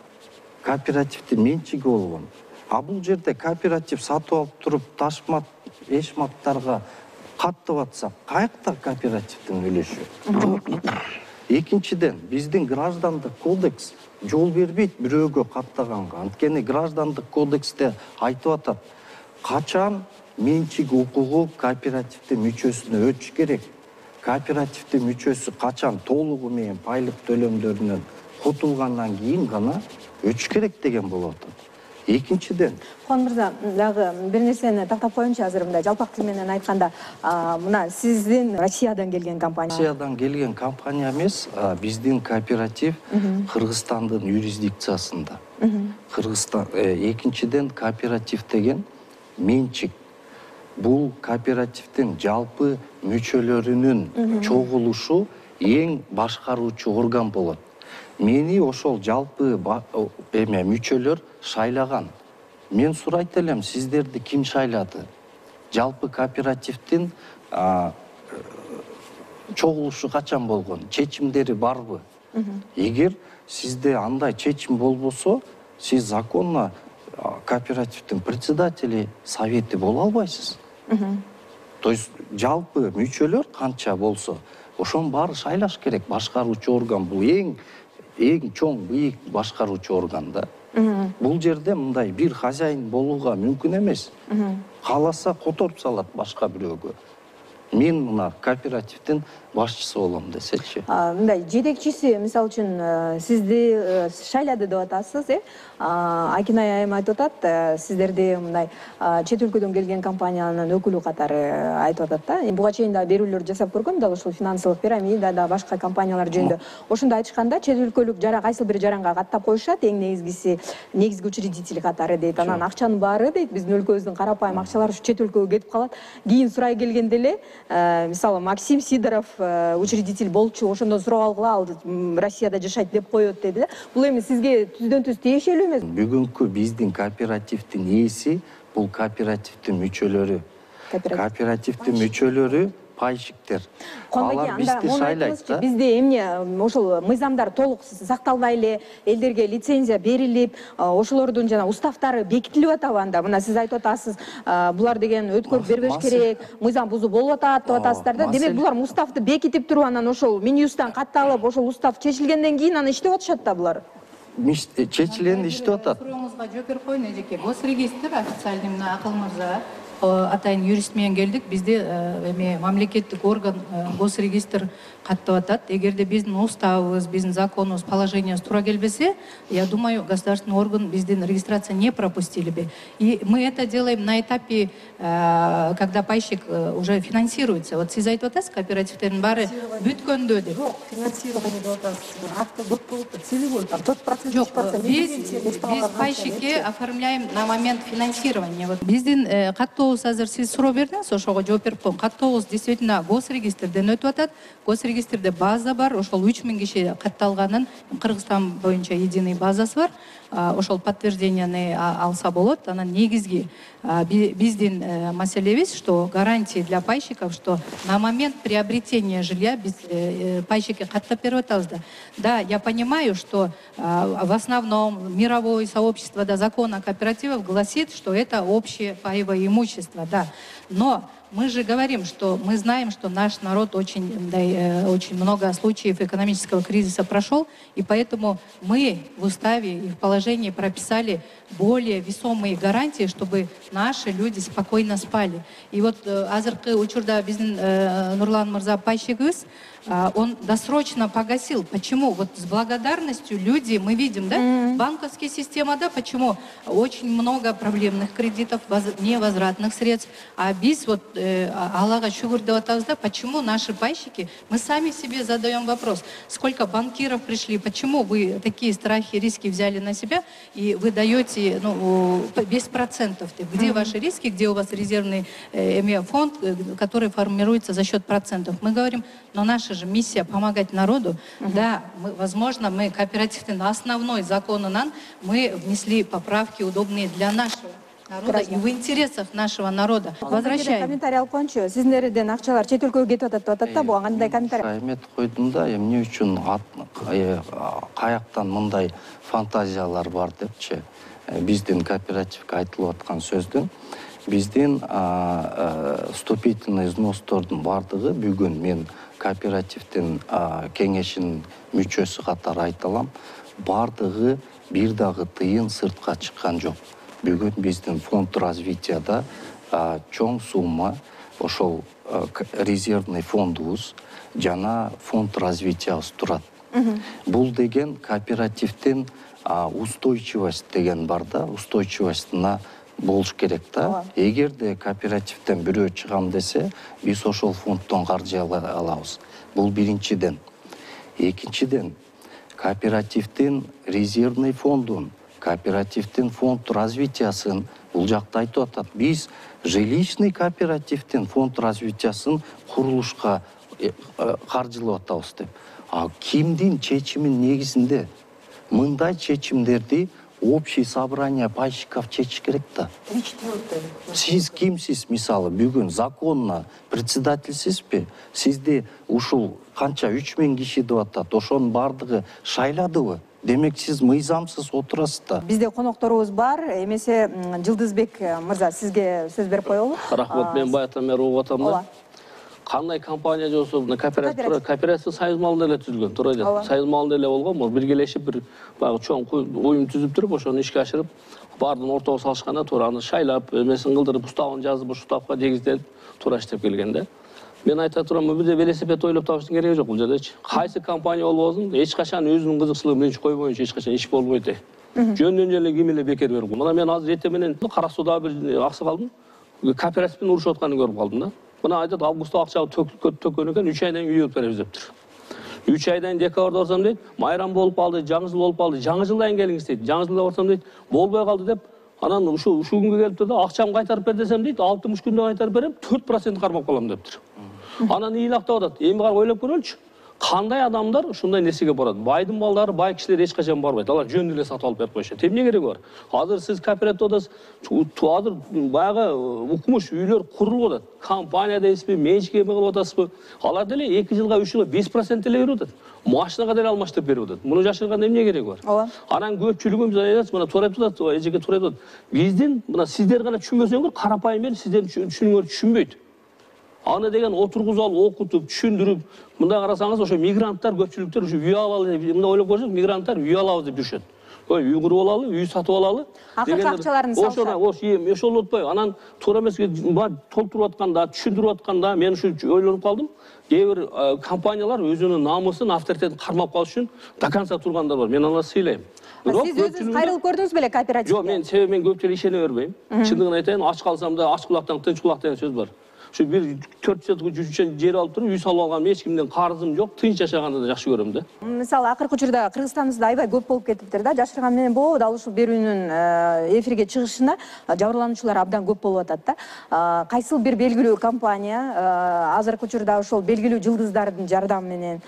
Кооперативдин менчиги болгон. А бул жерде кооператив сатып алып туруп ташмат, эшматтарга каттап атса, каякта кооперативдин үлүшү? Экинчиден, биздин граждандык кодекс жол бербейт бирөөгө каттаганга. Анткени граждандык кодексте айтып атат, качан менчик укугу кооперативдин мүчөсүнө өтүш керек. Кооперативдин мүчөсү качан толугу менен пайлык төлөмдөрүнөн кутулгандан кийин гана өтүш керек деген болуп атат. Экинчиден, Хон мырза, дагы бир нерсени тактап коеюнчу азыр мындай жалпак тил менен айтканда, мына сиздин Россиядан келген компания. Россиядан келген компания эмес, биздин кооператив Кыргызстандын юрисдикциясында. Кыргызстан экинчиден кооператив деген менчик. Бул кооперативдин жалпы мүчөлөрүнүн чогулушу эң башкаруучу орган болот. Мени ошол жалпы эме мүчөлөр шайлаган. Мен сурайт элем, сиздерди ким шайлады? Жалпы кооперативдин чогулушу качан болгон? Чечимдери барбы? Эгер сизде андай чечим болбосо, сиз законно кооперативдин председатели, совети боло албайсыз. То есть жалпы мүчөлөр канча болсо, ошонун баары шайлаш керек. Башкаруучу орган бул эң эң чоң бийик башкаруучу орган да. Бул жерде мындай бир хозяин болууга мүмкүн эмес. Кааласа которуп салат башка бирөөгө. Мен мына кооперативдин башчысы болом десечи. Мындай жетекчиси, мисалы үчүн, сизди шайлады деп атасыз, э? Акинай айым айтып атат, сиздерди мындай чет өлкөдөн келген компаниянын өкүлү катары айтып атат да. Буга чейин да берүүлөр жасап көргөм, дагы ушул финансылык пирамида да башка компаниялар жөнүндө. Ошондо айтышканда, чет өлкөлүк жара кайсы бир жаранга каттап коюшат, эң негизгиси негизги учредитель катары дейт. Анан акчанын баары дейт, биздин өлкөбүздүн карапайым акчалар ушу чет өлкөгө кетип калат. Кийин сурай келгенде эле, мисалы Максим Сидоров учредитель болчу, ошондон сурап алгыла, ал Россияда жашайт деп коет деди да. Бул эми сизге түздөн түз тиешелүү эмес? Бүгүнкү биздин кооперативдин ээси бул кооперативдин мүчөлөрү. Кооперативдин мүчөлөрү пайщиктер. Алар бизди шайлайт да. Бизде эмне ошол мыйзамдар толук сакталбай эле, элдерге лицензия берилип, ошолордун жана уставтары бекитилип атабы анда? Мына сиз айтып атасыз, булар деген өткөрүп бербеш керек, мыйзам бузуу болуп атат деп атасыздар да. Демек булар уставты бекитип туруп, анан ошол Минюсттан катталып, ошол устав чечилгенден кийин анан иштеп атышат да булар. Чечилген иштеп атат. Сурооңузга жооп берип коеюн эжеке. Госрегистр официальный мына Акыл мырза атайын юрист менен келдик. Бизде эме мамлекеттик орган Госрегистр каттап атат. Эгерде биздин уставыбыз, биздин законубуз, положениябыз туура келбесе, я думаю, государственный орган биздин регистрация не пропустили бы. И мы это делаем на этапе, когда пайщик уже финансируется. Вот сиз айтып атасыз, кооперативдердин баары бүткөндө деп. Жок, финансирование деп атасыз. Акты бүт болуп, целевой там тот процент. Жок, биз пайщикке оформляем на момент финансирования. Вот биздин каттообуз азыр сиз суроо бердиңиз, ошого жооп берип коем. Каттообуз действительно Госрегистрден өтүп атат. Госрегистрде база бар, ошол үч миң киши катталганын, Кыргызстан боюнча единый базасы бар. Ошол подтвержденияны алса болот. Анан негизги биздин маселебиз, что гарантии для пайщиков, что на момент приобретения жилья биз пайщикке каттап берип атабыз да. Да, я понимаю, что в основном мировое сообщество, да, закон о кооперативах гласит, что это общее паевое имущество, да. Но мы же говорим, что мы знаем, что наш народ очень, да, э, очень много случаев экономического кризиса прошел, и поэтому мы в уставе и в положении прописали более весомые гарантии, чтобы наши люди спокойно спали. И вот азыркы учурда биздин Нурлан Мырза пайщигыбыз, он досрочно погасил. Почему? Вот с благодарностью люди, мы видим, да, mm-hmm. банковская система, да, почему очень много проблемных кредитов, невозвратных средств. А biz вот Аллаха шүгүр деп атабыз, да, почему наши пайщики, мы сами себе задаем вопрос, сколько банкиров пришли, почему вы такие страхи, риски взяли на себя и вы даете, ну, без процентов. Где mm-hmm. ваши риски, где у вас резервный э, фонд, который формируется за счет процентов. Мы говорим, но наша же миссия помогать народу. Uh-huh. Да, мы, возможно, мы кооперативный основной законунан мы внесли поправки удобные для нашего народа Граждан. И в интересах нашего народа. Возвращаем. Комментарий алып коюнчу. Сиздерден акчалар чет өлкөгө кетип атат деп атат да, буга кандай комментарий? Эметип койдум да, эмне үчүн каяктан мындай фантазиялар бар депчи. Биздин кооперативге айтылып аткан сөздүн биздин вступительный взностордун бардыгы бүгүн мен кооперативдин кеңешинин мүчөсү катары айта алам, бардыгы бир дагы тыйын сыртка чыккан жок. Бүгүн биздин фонд развитияда чоң сумма ошол резервный фондубуз жана фонд развитиябыз турат. Бул деген кооперативдин устойчивость деген бар да, устойчивостуна болуш керек да. Эгерде кооперативден бирөө чыгам десе, биз ошол фонддон каржы алабыз. Бул биринчиден. Экинчиден, кооперативдин резервный фондун, кооперативдин фонд развитиясын бул жакта айтып атат. Биз жилищный кооперативдин фонд развитиясын курулушка каржылап атабыз деп. А кимдин чечимин негизинде мындай чечимдерди общий собрание пайщиков чечиш керек да. Сиз кимсиз, мисалы, бүгүн законно председательсизби? Сизди ушул канча үч миң киши деп атат, ошонун бардыгы шайладыбы? Демек сиз мыйзамсыз отурасыз да. Бизде конокторубуз бар. Эмесе Жылдызбек мырза, сизге сөз берип коелу. Рахмат, мен байаттан бери угуп атам да. Кандай компания болсо, кооператив, кооператив союз малында эле түзүлгөн, туура эле. Союз малында эле болгон, бул биргелешип бир баягы чоң уюм түзүп туруп, ошону ишке ашырып, бардын ортого салышканда туура аны шайлап, эмесин кылдырып, уставын жазып, ушу штабка дегизделип, туура иштеп келген да. Мен айта турам, бизде велосипед ойлоп табыштын кереги жок бул жердечи. Кайсы компания болбосун, эч качан өзүнүн кызыкчылыгын менчик койбойчу эч качан иш болбойт. Жөндөн эле ким эле бекер берип. Мына мен азыр эртең менен Кара Сууда бир аксакалдын кооперативдин урушуп атканын көрүп калдым да. Мына айтат, августта акча төккөн экен, үч айдан үй өтүп беребиз дептир. үч айдан декабрда барсам дейт, майрам болуп калды, жаңы жыл болуп калды, жаңы жылдан келиңиз дейт. Жаңы жылда барсам дейт, болбой калды деп, анан ушу ушу күнгө келиптир да, акчамды кайтарып бер десем дейт, алтымыш күндө кайтарып берем, төрт процент кармап калам дептир. Анан ыйлактап атат. Эми кара ойлоп көрөлүчү. Кандай адамдар ушундай нерсеге барат? Байдын балдары, бай кишилер эч качан барбайт. Алар жөн эле сатып алып берип коюшат. Эмне кереги бар? Азыр сиз кооперативде азыр баягы укмуш үйлөр курулуп атат. Компания дейсизби, менчикке кылып атасызбы? Алар деле эки жылга, үч жылга беш процент эле берип атат. Машинага деле алмаштырып берип атат. Муну жашырганда эмне кереги бар? Ооба. Анан көпчүлүгүбүз айтат, мына туура айтып атат, эжеке туура айтып атат. Биздин мына сиздер гана түшүнбөсөңөр, карапайым эл сиздердин түшүнүңөр түшүнбөйт. Аны деген отургузуп алып, окутуп, түшүндүрүп, мындай карасаңыз, ошо мигранттар көпчүлүктөр ушу үй алалы, мындай ойлоп көрсөк, мигранттар үй алабыз деп жүрүшөт. Ой, үй куруп алалы, үй сатып алалы. Акыркы акчаларын салышат. Ошо ошол отпой, анан туура эмеске толтуруп атканда, түшүндүрүп атканда мен ушу ойлонуп калдым. Кээ бир компаниялар өзүнүн намысын, авторитетин кармап калыш үчүн до конца тургандар бар. Мен аларды сыйлайм. Сиз өзүңүз кайрылып көрдүңүз беле кооперативге? Жок, мен себеби мен көпчүлүк ишене бербейм. Чындыгын айтайын, ач калсам да ач кулактан тынч кулак деген сөз бар. Şu bir төрт соток жүз жер алып туруп, үй салып алгам, эч кимден карызым жок, тынч жашаганды да жакшы көрөм да. Мисалы, акыркы учурда Кыргызстаныбызда аябай көп болуп кетиптир да, жашырган менен болобу, дал ушул берүүнүн эфирге чыгышына жабырлануучулар абдан көп болуп атат да. Кайсыл бир белгилүү компания азыркы учурда ошол белгилүү жылдыздардын жардамы менен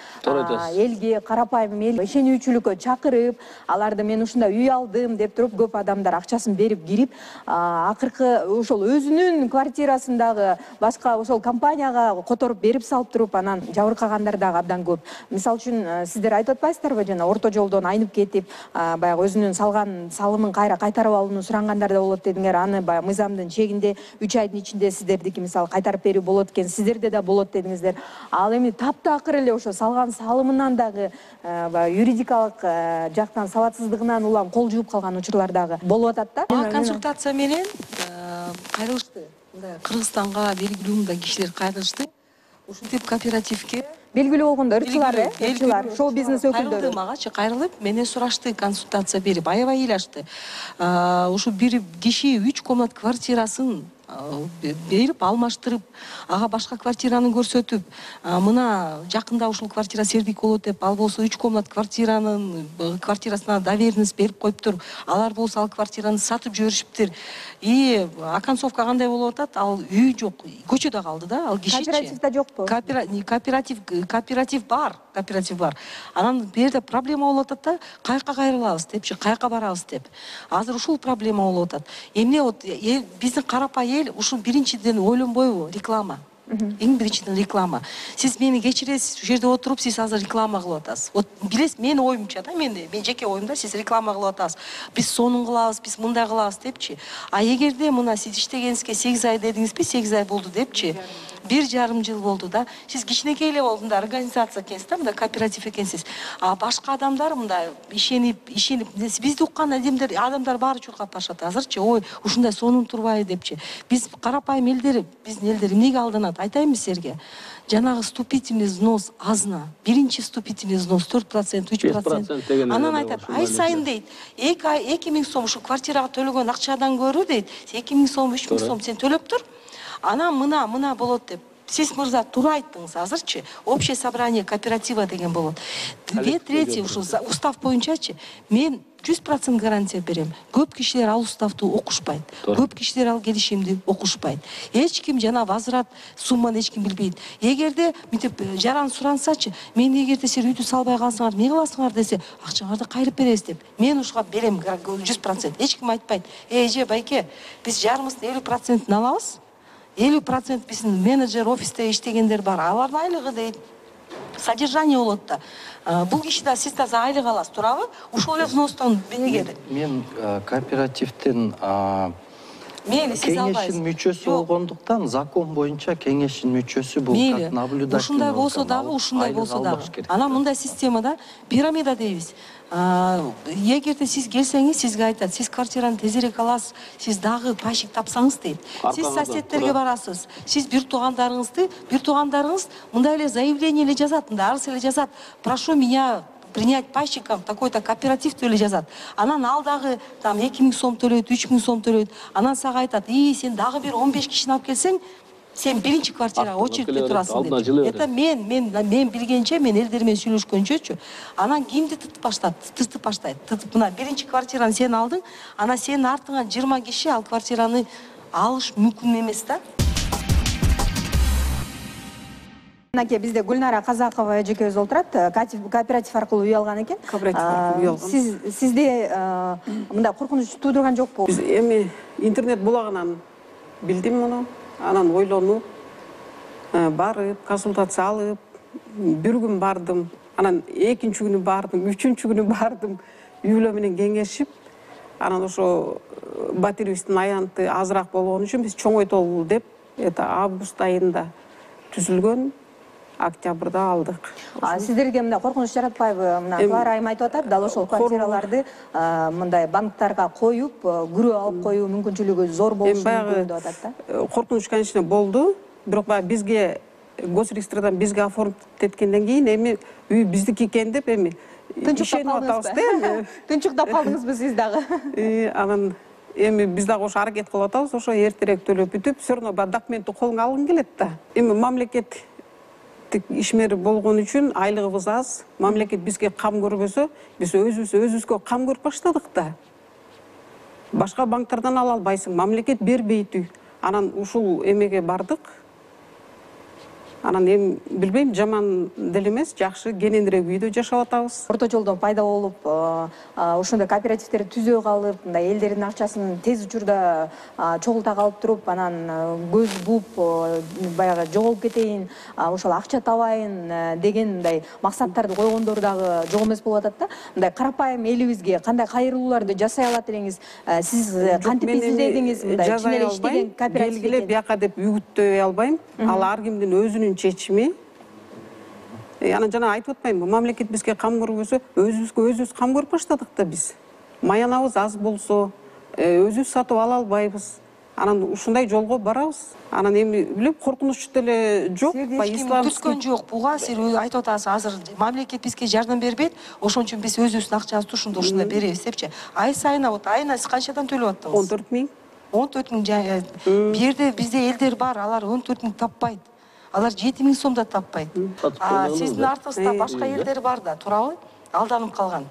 элге, карапайым эл ишенүүчүлүккө чакырып, аларды мен ушундай үй алдым деп туруп, көп адамдар акчасын берип кирип, акыркы ошол өзүнүн квартирасындагы башка башка ошол компанияга которуп берип салып туруп анан жабыркагандар дагы абдан көп. Мисалы үчүн сиздер айтып атпайсыздарбы, жана орто жолдон айнып кетип, баягы өзүнүн салган салымын кайра кайтарып алууну сурангандар да болот дедиңер. Аны баягы мыйзамдын чегинде үч айдын ичинде сиздердики мисалы кайтарып берүү болот экен, сиздерде да болот дедиңиздер. Ал эми таптакыр эле ошо салган салымынан дагы баягы юридикалык жактан сабатсыздыгынан улам кол жууп калган учурлар дагы болуп атат да. Консультация менен кайрылышты. Мындай Кыргызстанга белгилүү мындай кишилер кайрылышты. Ушинтип кооперативге белгилүү болгондо ырчылар, э, ырчылар, шоу бизнес өкүлдөрү магачы кайрылып, менен сурашты, консультация берип, аябай ыйлашты. Ушу бир киши үч комнат квартирасын берип, алмаштырып, ага башка квартираны көрсөтүп, мына жакында ушул квартира сердик болот деп, ал болсо үч комнат квартиранын квартирасына доверенность берип коюптур. Алар болсо ал квартираны сатып жиберишиптир. И оконцовка кандай болуп атат? Ал үй жок, көчөдө калды да, ал кишичи. Кооперативде жокпу? Кооператив, кооператив бар, кооператив бар. Анан бул жерде проблема болуп атат да, каяка кайрылабыз депчи, каяка барабыз деп. Азыр ушул проблема болуп атат. Эмне вот биздин карапайым эл ушул биринчиден ойлонбойбу? Реклама. Эң биринчиден реклама. Сиз мени кечиресиз, ушул жерде отуруп, сиз азыр реклама кылып атасыз. Вот билесиз, менин оюмча да, мен мен жеке оюмда, сиз реклама кылып атасыз. Биз сонун кылабыз, биз мындай кылабыз депчи. А эгерде мына сиз иштегениңизге сегиз ай дедиңизби, сегиз ай болду депчи. Бир жарым жыл болду да. Сиз кичинекей эле болду, мындай организация экенсиз да, мындай кооператив экенсиз. А башка адамдар мындай ишенип, ишенип, бизди уккан адамдар, адамдар баары чуркап барышат азырчы. Ой, ушундай сонун турбайбы депчи. Биз карапайым элдер, биздин элдер эмнеге алданат? Айтайынбы силерге? Жанагы вступительный взнос азына. Биринчи вступительный взнос төрт процент, үч процент. Анан айтат, ай сайын дейт, эки миң сом ушу квартирага төлөгөн акчадан көрүү дейт, эки миң сом, үч миң сом сен төлөп тур. Анан мына мына болот деп. Сиз мырза туура айттыңыз азырчы. Общее собрание кооператива деген болот. Две трети ушул устав боюнчачы мен жүз процент гарантия берем. Көп кишилер ал уставды окушпайт. Көп кишилер ал келишимди окушпайт. Эч ким жана возврат сумманы эч ким билбейт. Эгерде мынтип жаран сурансачы, мен эгерде силер үйдү салбай калсаңар, эмне кыласыңар десе, акчаңарды кайрып беребиз деп. Мен ушуга берем жүз процент. Эч ким айтпайт. Эже байке, биз жарымыбыздын элүү процентин алабыз. элүү процент биздин менеджер офисте иштегендер бар. Алардын айлыгы дейт. Содержание болот да. Бул киши да сиз да айлык аласыз, туурабы? Ушул эле взностон эгер. Мен кооперативдин Мейли, сиз албайсыз. Кеңештин мүчөсү болгондуктан закон боюнча кеңештин мүчөсү бул как наблюдатель. Ушундай болсо дагы, ушундай болсо дагы. Анан мындай системада пирамида дейбиз. Эгерде сиз келсеңиз, сизге айтат, сиз квартираны тезирээк аласыз, сиз дагы пайщик тапсаңыз дейт. Сиз соседтерге барасыз, сиз бир туугандарыңызды, бир туугандарыңыз мындай эле заявление эле жазат, мындай арыз эле жазат. Прошу меня принять пайщиком такой-то кооператив эле жазат. Анан ал дагы там эки миң сом төлөйт, үч миң сом төлөйт. Анан сага айтат, "И, сен дагы бир он беш кишини алып келсең, сен биринчи квартирага очередьте турасың" деп. Это мен, мен, мен билгенче, мен элдер менен сүйлөшкөнчөчү. Анан кимди тытып баштат, тытып баштайт. Тытып мына биринчи квартираны сен алдың, анан сенин артыңан жыйырма киши ал квартираны алыш мүмкүн эмес да. Мынакей бизде Гүлнара Казакова эжекебиз отурат, кооператив аркылуу үй алган экен. Кооператив аркылуу үй алган. Сиз сизде мындай коркунуч туудурган жокпу? Биз эми интернет булагынан билдим муну. Анан ойлонуп, барып, консультация алып, бир күн бардым, анан экинчи күнү бардым, үчүнчү күнү бардым, үй бүлө менен кеңешип, анан ошо батирибиздин аянты азыраак болгон үчүн биз чоңойтолу деп, это август айында түзүлгөн, октябрда алдык. Сиздерге мындай коркунуч жаратпайбы? Мына Клара айым айтып атат, дал ошол квартираларды мындай банктарга коюп, күрөө алып коюу мүмкүнчүлүгү зор болушу мүмкүн деп атат да. Коркунуч, конечно, болду. Бирок баягы бизге госрегистрдан бизге оформить эткенден кийин эми үй биздики экен деп эми тынчыктап калдыңыз да? Тынчыктап калдыңызбы сиз дагы? Анан эми биз дагы ошо аракет кылып атабыз, ошо эртерээк төлөп бүтүп, все равно баягы документти колуңа алгың келет да. Эми мамлекет ишмери болгон үчүн айлыгыбыз аз. Мамлекет бизге кам көрбөсө, биз өзүбүз өзүбүзгө кам көрүп баштадык да. Башка банктардан ала албайсың, мамлекет бербейт үй. Анан ушул эмеге бардык. Анан эми билбейм, жаман деле эмес, жакшы кененирээк үйдө жашап атабыз. Орто жолдон пайда болуп, ошондой кооперативдерди түзө калып, мындай элдердин акчасын тез учурда чогулта калып туруп, анан көз буп, баягы жоголуп кетейин, ошол акча табайын деген мындай максаттарды койгондор дагы жок эмес болуп атат да. Мындай карапайым элибизге кандай кайрылууларды жасай алат элеңиз? Сиз кантип изилдедиңиз мындай чын эле иштеген кооператив? Белгилеп бияка деп үгүттөй албайм. Ал ар кимдин өзүнүн чечими. Анан жана айтып атпаймынбы, мамлекет бизге кам көрбөсө, өзүбүзгө өзүбүз кам көрүп баштадык да биз. Маянабыз аз болсо, өзүбүз сатып ала албайбыз. Анан ушундай жолго барабыз. Анан эми билип коркунуч деле жок. Түскөн жок буга. Сиз айтып атасыз, азыр мамлекет бизге жардам бербейт, ошон үчүн биз өзүбүздүн акчабызды ушундай ушундай беребиз депчи. Ай сайына вот айына сиз канчадан төлөп аттыңыз? он төрт миң. он төрт миң. Бу жерде бизде элдер бар, алар он төрт миң таппайт. Алар жети миң сом да таппайт. Сиздин артыңызда башка элдер бар да, туурабы? Алданып калган.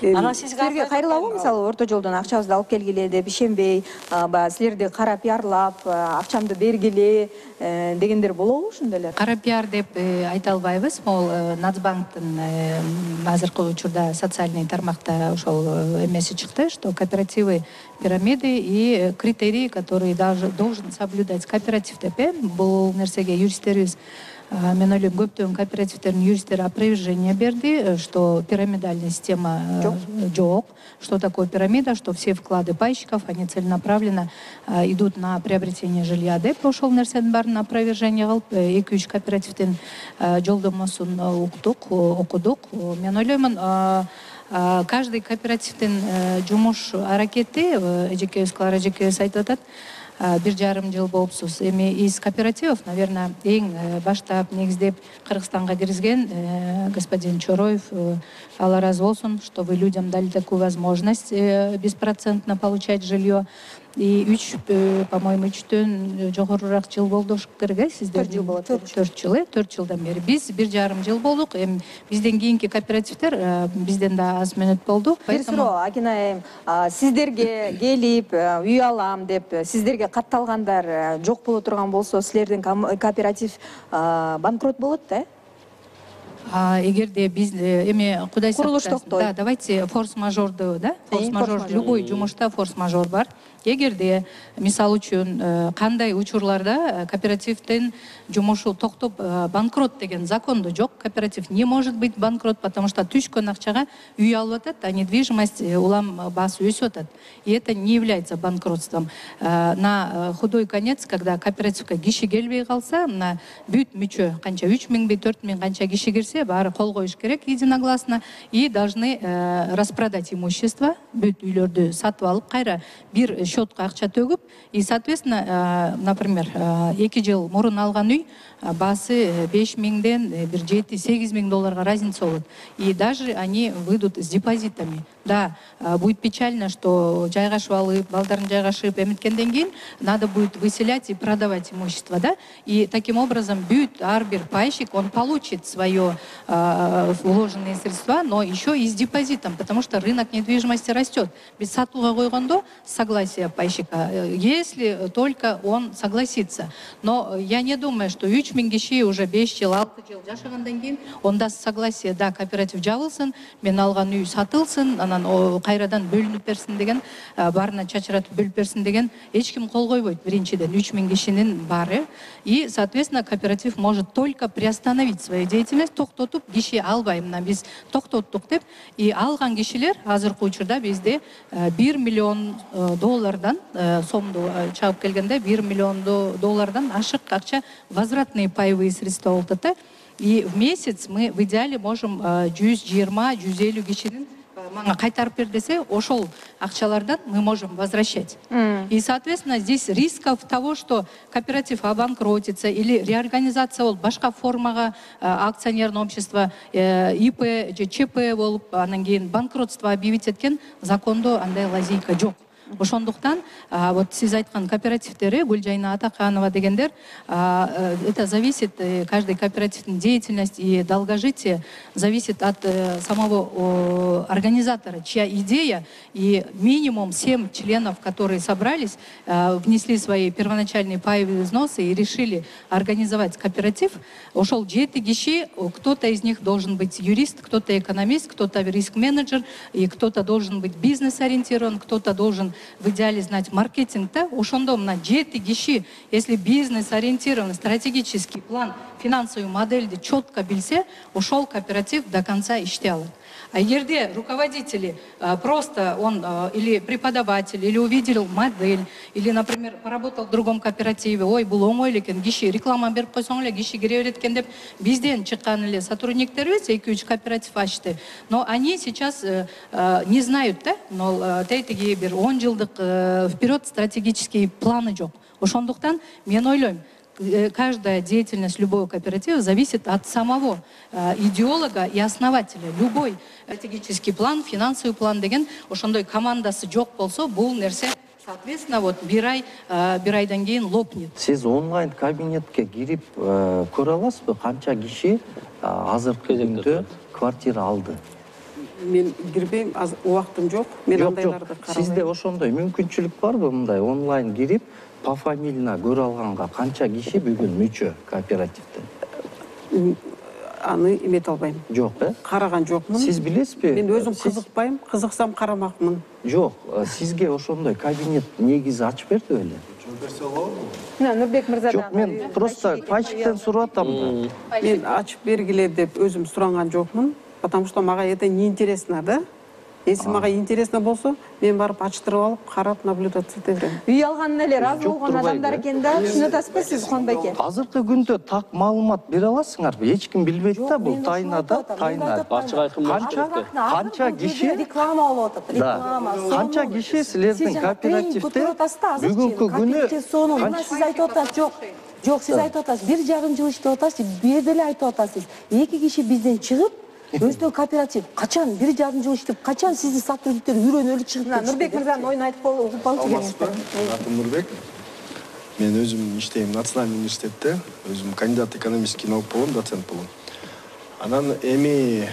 Анан сизге кайрылабы, мисалы орто жолдон акчабызды алып келгиле деп ишенбей, баягы силерди кара пиарлап, акчамды бергиле дегендер болобу ошондой эле? Кара пиар деп айта албайбыз. Могул Нацбанктын азыркы учурда социальный тармакта ошол эмеси чыкты, что кооперативы пирамиды и критерии, которые должен соблюдать кооператив деп. Бул нерсеге юристтерибиз, мен ойлойм, көптөгөн кооперативдердин юристтери опровержение берди, что пирамидальная система жок. Что такое пирамида, что все вклады пайщиков, они целенаправленно идут на приобретение жилья деп. Ошол нерсенин баарын опровержение кылып, эки үч кооперативдин жолдомосун уктук, окудук. Мен ойлоймун, каждый кооперативдин жумуш аракети, эжекебиз Клара эжекебиз айтып атат, бир жарым жыл болупсуз. Эми из кооперативов, наверное, эң баштап негиздеп Кыргызстанга киргизген господин Чороев, Алла разы болсун, что вы людям дали такую возможность беспроцентно получать жилье. И үч, по-моему, үчтөн жогорураак жыл болду керек, сиздер? төрт жыл болот. төрт жыл, төрт жылдан бери. Биз бир жарым жыл болдук. Эми бизден кийинки кооперативдер бизден да аз мөөнөт болду. Бир суроо, Акина айым, сиздерге келип, үй алам деп, сиздерге катталгандар жок боло турган болсо, силердин кооператив банкрот болот да? Эгерде биз эми Кудай курулуш токтой. Да, давайте форс-мажорду, да? Форс-мажор, любой жумушта форс-мажор бар. Эгерде, мисалы үчүн, кандай учурларда кооперативдин жумушу токтоп банкрот деген закондо жок. Кооператив не может быть банкрот, потому что түшкөн акчага үй алып атат, а недвижимость улам баасы өсүп атат. И это не является банкротством. На худой конец, когда кооперативге киши келбей калса, на бүт мүчө канча үч миңби төрт миң канча киши кирсе, баары кол коюш керек единогласно и должны распродать имущество, бүт үйлөрдү сатып алып, кайра бир счетка акча төгүп, и соответственно, например, эки жыл мурун алган үй баасы беш миңден бир жети сегиз миң долларга разница болот. И даже они выйдут с депозитами. Да, будет печально, что жайгашып алып, балдарын жайгашып эметкенден кийин надо будет выселять и продавать имущество, да? И таким образом бүт ар бир пайщик, он получит свое э, вложенные средства, но еще и с депозитом, потому что рынок недвижимости растет. Без сатууга койгондо согласия пайщика, если только он согласится. Но я не думаю, что үч миң киши уже беш жыл, алты жыл жашагандан кийин он даст согласие, да, кооператив жабылсын, мен алган үй сатылсын, анан кайрадан бөлүнүп берсин деген, баарына чачыратып бөлүп берсин деген эч ким кол койбойт. Биринчиден үч миң кишинин баары. И, соответственно, кооператив может только приостановить свою деятельность, токтотуп, киши албай, мына биз токтоттук деп. И алган кишилер азыркы учурда бизде бир миллион доллардан, сомду чагып келгенде бир миллион доллардан ашык акча, возвратные паевые средства болуп атат. И в месяц мы в идеале можем жүз жыйырма жүз элүү кишинин мага кайтарып бер десе, ошол акчалардан мы можем возвращать. Mm. И, соответственно, здесь рисков того, что кооператив обанкротится или реорганизация болуп, башка формага акционерное общество, ИП же ЧП болуп, анан кийин банкротство объявить эткен закондо андай лазейка жок. Ошондуктан вот сиз айткан кооперативдери Гүлжайна Атаканова дегендер, это зависит, каждый кооперативдин деятельность и долгожитие зависит от самого организатора, чья идея, и минимум семь членов, которые собрались, внесли свои первоначальные паевые взносы и решили организовать кооператив. Ошол жети киши, кто-то из них должен быть юрист, кто-то экономист, кто-то риск-менеджер, и кто-то должен быть бизнес-ориентирован, кто-то должен в идеале знать маркетинг. Да? Ошондо мына жети киши, если бизнес-ориентированный стратегический план, финансовую модель четко билсе, ошол кооператив до конца иштей алат. А егерде руководители просто он или преподаватель, или увидел модель, или, например, поработал в другом кооперативе, ой, бул оңой экен, киши реклама берип койсоң эле киши кире берет экен деп бизден чыккан эле сотрудниктерибиз эки үч кооператив ачты. Но они сейчас не знают, да, но тейтиги бир он жылдык вперед стратегический планы жок. Ошондуктан мен ойлойм, каждая деятельность любого кооператива зависит от самого э, идеолога и основателя. Любой стратегический план, финансовый план деген ошондой командасы жок болсо, бул нерсе соответственно вот бир ай бир айдан кийин лопнет. Сиз онлайн кабинетке кирип көрө аласызбы, канча киши азыркы күндө квартира алды? Мен кирбейм, убактым жок. Мен андайларды карабайм. Сизде ошондой мүмкүнчүлүк барбы, мындай онлайн кирип пофамильно көрө алганга канча киши бүгүн мүчө кооперативде? Аны эмете албайм. Жок, э? Караган жокмун. Сиз билесизби? Мен өзүм кызыкпайм, кызыксам карамакмын. Жок, сизге ошондой кабинет негизи ачып берди беле? Нурбек мырза. Жок, мен просто пайчиктен сурап атам да. Мен ачып бергиле деп өзүм суранган жокмун, потому что мага это неинтересно, да? Если мага интересно болсо, мен барып ачтырып алып, карап, наблюдаться ете берем. Үй алганына эле разы болгон адамдар экен да, түшүнүп атасызбы сиз, Кубанбай эке? Азыркы күндө так маалымат бере аласыңарбы? Эч ким билбейт да, бул тайнада, тайна. Ачык айкын Канча канча киши реклама болуп атат, реклама. Канча киши силердин кооперативде бүгүнкү күнү мына сиз айтып атасыз, жок. Жок, сиз айтып атасыз, бир жарым жыл иштеп атасыз, бир жерде эле айтып атасыз. Эки киши бизден чыгып, өздөө кооператив качан бир жарым жыл иштеп, качан сиздин сотрудниктер үйрөнөлү чыгып кетти? Нурбек мырзанын оюн айтып угуп калчу кеңештер. Атым Нурбек. Мен өзүм иштейм Национальный университетте, өзүм кандидат экономический наук болом, доцент болом. Анан эми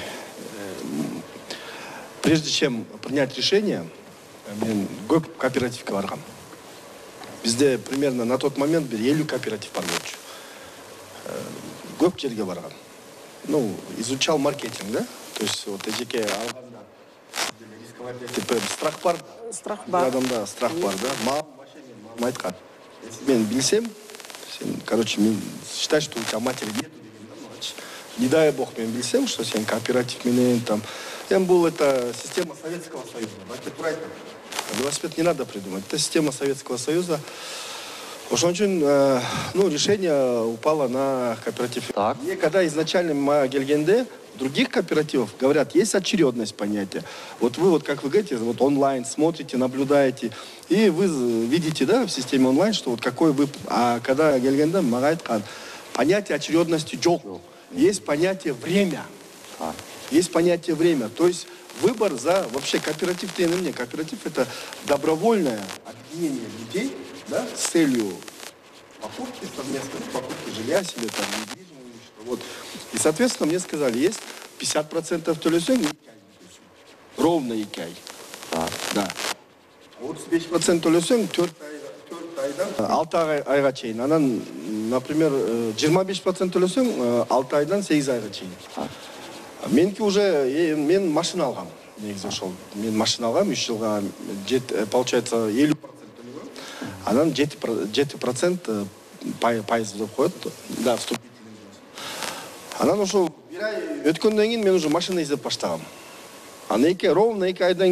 прежде чем принять решение, мен көп кооперативге баргам. Бизде примерно на тот момент бир элүү кооператив бар болчу. Көп жерге баргам. Ну, изучал маркетинг, да? То есть вот эжеке алганда рисковать деп страх бар. Страх бар. Адамда страх бар, да? Мал машина айткан. Если мен билсем, сен, короче, мен считай, что у тебя матери нет, не дай бог мен билсем, что сен кооператив менен там, эми бул это система Советского Союза. Велосипед не надо придумать. Это система Советского Союза. Ошон үчүн, ну, решение упало на кооператив. Так. И когда изначально мы келгенде, других кооперативов говорят, есть очередность понятия. Вот вы, вот как вы говорите, вот онлайн смотрите, наблюдаете, и вы видите, да, в системе онлайн, что вот какой вы... А когда келгенде, мага айткан, понятие очередности жок. Есть понятие время. Так. Есть понятие время. То есть выбор за... Вообще кооператив, ты на мне, кооператив это добровольное объединение людей, да, с целью покупки, совместной покупки жилья себе, там, недвижимого имущества. Вот. И, соответственно, мне сказали, есть пятьдесят процентов төлөсөң, ровно икай. Так. Да. А вот беш процент төлөсөң, төрт айдан алты айга чейин. Анан, например, жыйырма беш процент төлөсөң, алты айдан сегиз айга чейин. Меники уже, мен машина алгам. Негизи ошол. Мен машина алгам, үч жылга, получается, элүү процент. Анан жети процент пайыз деп коет. Да, вступительный взнос. Анан ошол бир ай өткөндөн кийин мен уже машина издеп баштагам. Аны эки ровно эки айдан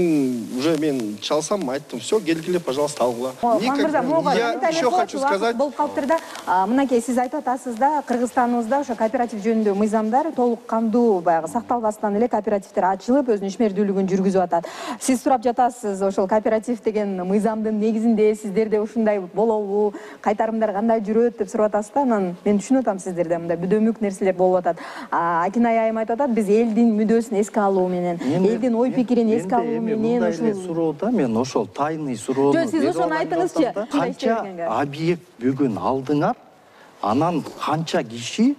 уже мен чалсам, айттым, все, келгиле, пожалуйста, алгыла. Я еще хочу сказать. Болуп калыптыр да, мынакей сиз айтып атасыз да, Кыргызстаныбызда ошо кооператив жөнүндө мыйзамдар толук кандуу баягы сакталбастан эле кооперативдер ачылып, өзүнүн ишмердүүлүгүн жүргүзүп атат. Сиз сурап жатасыз, ошол кооператив деген мыйзамдын негизинде сиздерде ушундай болобу, кайтарымдар кандай жүрөт деп сурап атасыз да. Анан мен түшүнүп атам сиздерде мындай бүдөмүк нерселер болуп атат. Акинай айым айтып атат, биз элдин мүдөөсүн эске алуу менен, элдин элдин ой пикирин эске алуу менен ушул суроода мен ошол тайный суроону жок, сиз ошону айтыңызчы. Канча объект бүгүн алдыңар, анан канча киши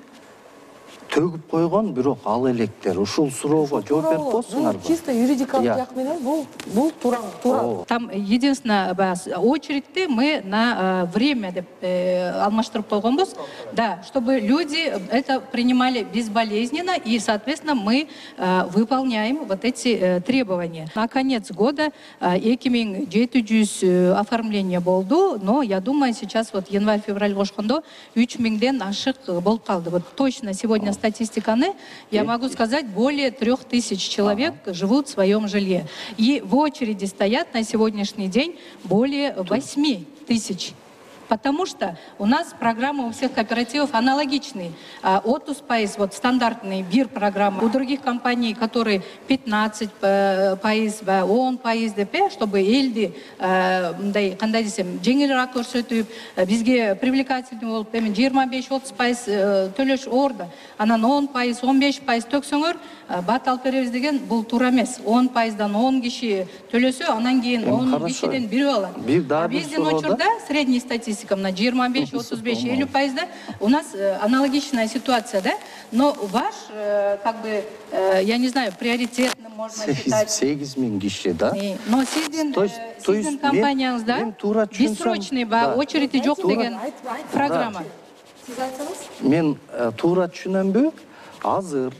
төгүп койгон, бирок ал электер. Ушул суроого жооп берип коесуңарбы? Чисто юридикалык жак менен бул бул туура, туура. Там единственное, очередьте мы на время деп алмаштырып койгонбуз. Да, чтобы люди это принимали безболезненно, и, соответственно, мы выполняем вот эти требования. На конец года эки миң жети жүз оформление болду, но я думаю, сейчас вот январь-февраль кошкондо үч миңден ашык болуп калды. Вот точно сегодня статистиканы, я могу сказать, более трех тысяч человек живут в своем жилье. И в очереди стоят на сегодняшний день более восьми тысяч. Потому что у нас программы у всех кооперативов аналогичные. Отус пайыз, вот стандартный бир программа. У других компаний, которые пятнадцать пайыз, он пайыз деп, чтобы элди, кандай десем, жеңилирээк көрсөтүп, бизге привлекательный болуп, эми жыйырма беш отуз пайыз төлөш орда. Анан он пайыз, он беш пайыз төксөңөр, бат алып беребиз деген бул туура эмес. он пайыздан он киши төлөсө, анан кийин он кишиден бири алат. Биздин учурда средний статистика на жыйырма беш, отуз беш, элүү пайызда у нас аналогичная ситуация, да? Но ваш, как бы, я не знаю, приоритетным можно считать. сегиз миң киши, да? Но сиздин сиздин компанияңызда бессрочный очереди жок деген программа. Сиз айтсаңыз? Мен туура түшүнөмбү? Азыр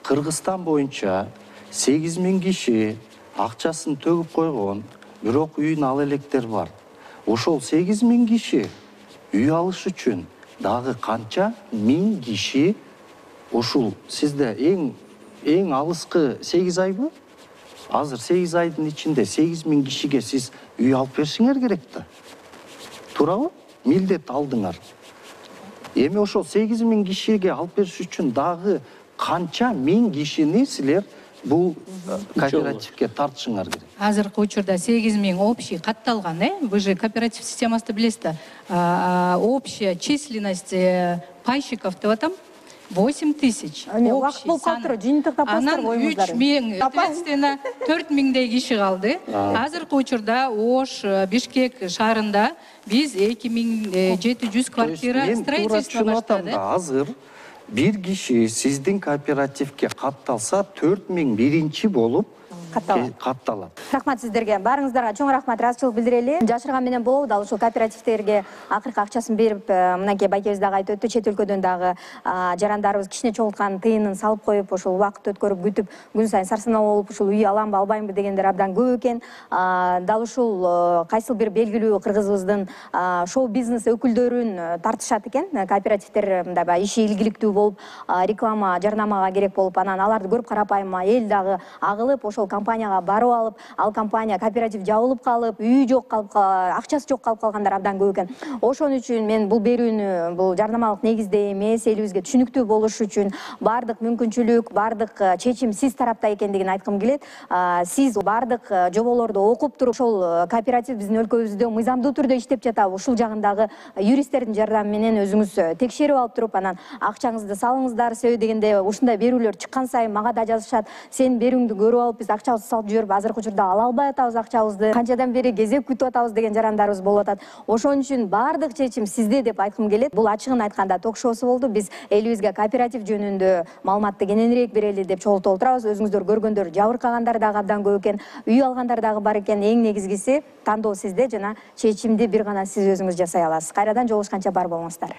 Кыргызстан боюнча сегиз миң киши акчасын төгүп койгон, бирок үйүн ал электер бар. Ошол сегиз миң киши үй алыш үчүн дагы канча миң киши ушул сизде эң эң алыскы сегиз айбы? Азыр сегиз айдын ичинде сегиз миң кишиге сиз үй алып беришиңер керек да. Туурабы? Милдет алдыңар. Эми ошол сегиз миң кишиге алып бериш үчүн дагы канча миң кишини силер бул кооперативке тартышыңар керек. Азыркы учурда сегиз миң общий катталган, э? Вы же кооператив системасында билесиз да. Общая численность пайщиков деп атам восемь тысяч. Убакыт болуп калыптыр, жыйынтыктап коюңуздар Анан боюңуздар. үч миң, соответственно, төрт миңдей киши калды. Азыркы учурда Ош, Бишкек шаарында биз эки миң жети жүз квартира строительство баштадык. Азыр бир киши сиздин кооперативке катталса төрт миң биринчи болуп катталат. Рахмат сиздерге. Баарыңыздарга чоң рахмат, ыраазычылык билдирели. Жашырган менен болобу, дал ушул кооперативтерге акыркы акчасын берип, мынакей байкебиз дагы айтып өттү, чет өлкөдөн дагы жарандарыбыз кичине чогулткан тыйынын салып коюп, ошол убакыт өткөрүп күтүп, күн сайын сарсанаа болуп, ушул үй аламбы, албаймбы дегендер абдан көп экен. Дал ушул кайсыл бир белгилүү кыргызыбыздын шоу-бизнес өкүлдөрүн тартышат экен. Кооперативтер мындай иши ийгиликтүү болуп, реклама, жарнамага керек болуп, анан аларды көрүп карапайым эл дагы агылып, ошол компанияга барып алып, ал компания кооператив жабылып калып, үйү жок калып, акчасы жок калып калгандар абдан көп экен. Ошон үчүн мен бул берүүнү бул жарнамалык негизде эмес, элибизге түшүнүктүү болуш үчүн бардык мүмкүнчүлүк, бардык чечим сиз тарапта экендигин айткым келет. Сиз бардык жоболорду окуп туруп, ошол кооператив биздин өлкөбүздө мыйзамдуу түрдө иштеп жатабы, ушул жагындагы юристтердин жардамы менен өзүңүз текшерип алып туруп, анан акчаңызды салыңыздар, себеби дегенде ушундай берүүлөр чыккан сайын мага да жазышат. Сен берүүңдү көрүп алып биз акчабызды салып жүрүп, азыркы учурда ала албай атабыз акчабызды, канчадан бери кезек күтүп атабыз деген жарандарыбыз болуп атат. Ошон үчүн бардык чечим сизде деп айткым келет. Бул ачыгын айтканда ток-шоусу болду. Биз элибизге кооператив жөнүндө маалыматты кененирээк берели деп чогултуп отурабыз. Өзүңүздөр көргөндөр жабыркагандар дагы абдан көп экен, үй алгандар дагы бар экен. Эң негизгиси тандоо сизде жана чечимди бир гана сиз өзүңүз жасай аласыз. Кайрадан жолугушканча бар болуңуздар.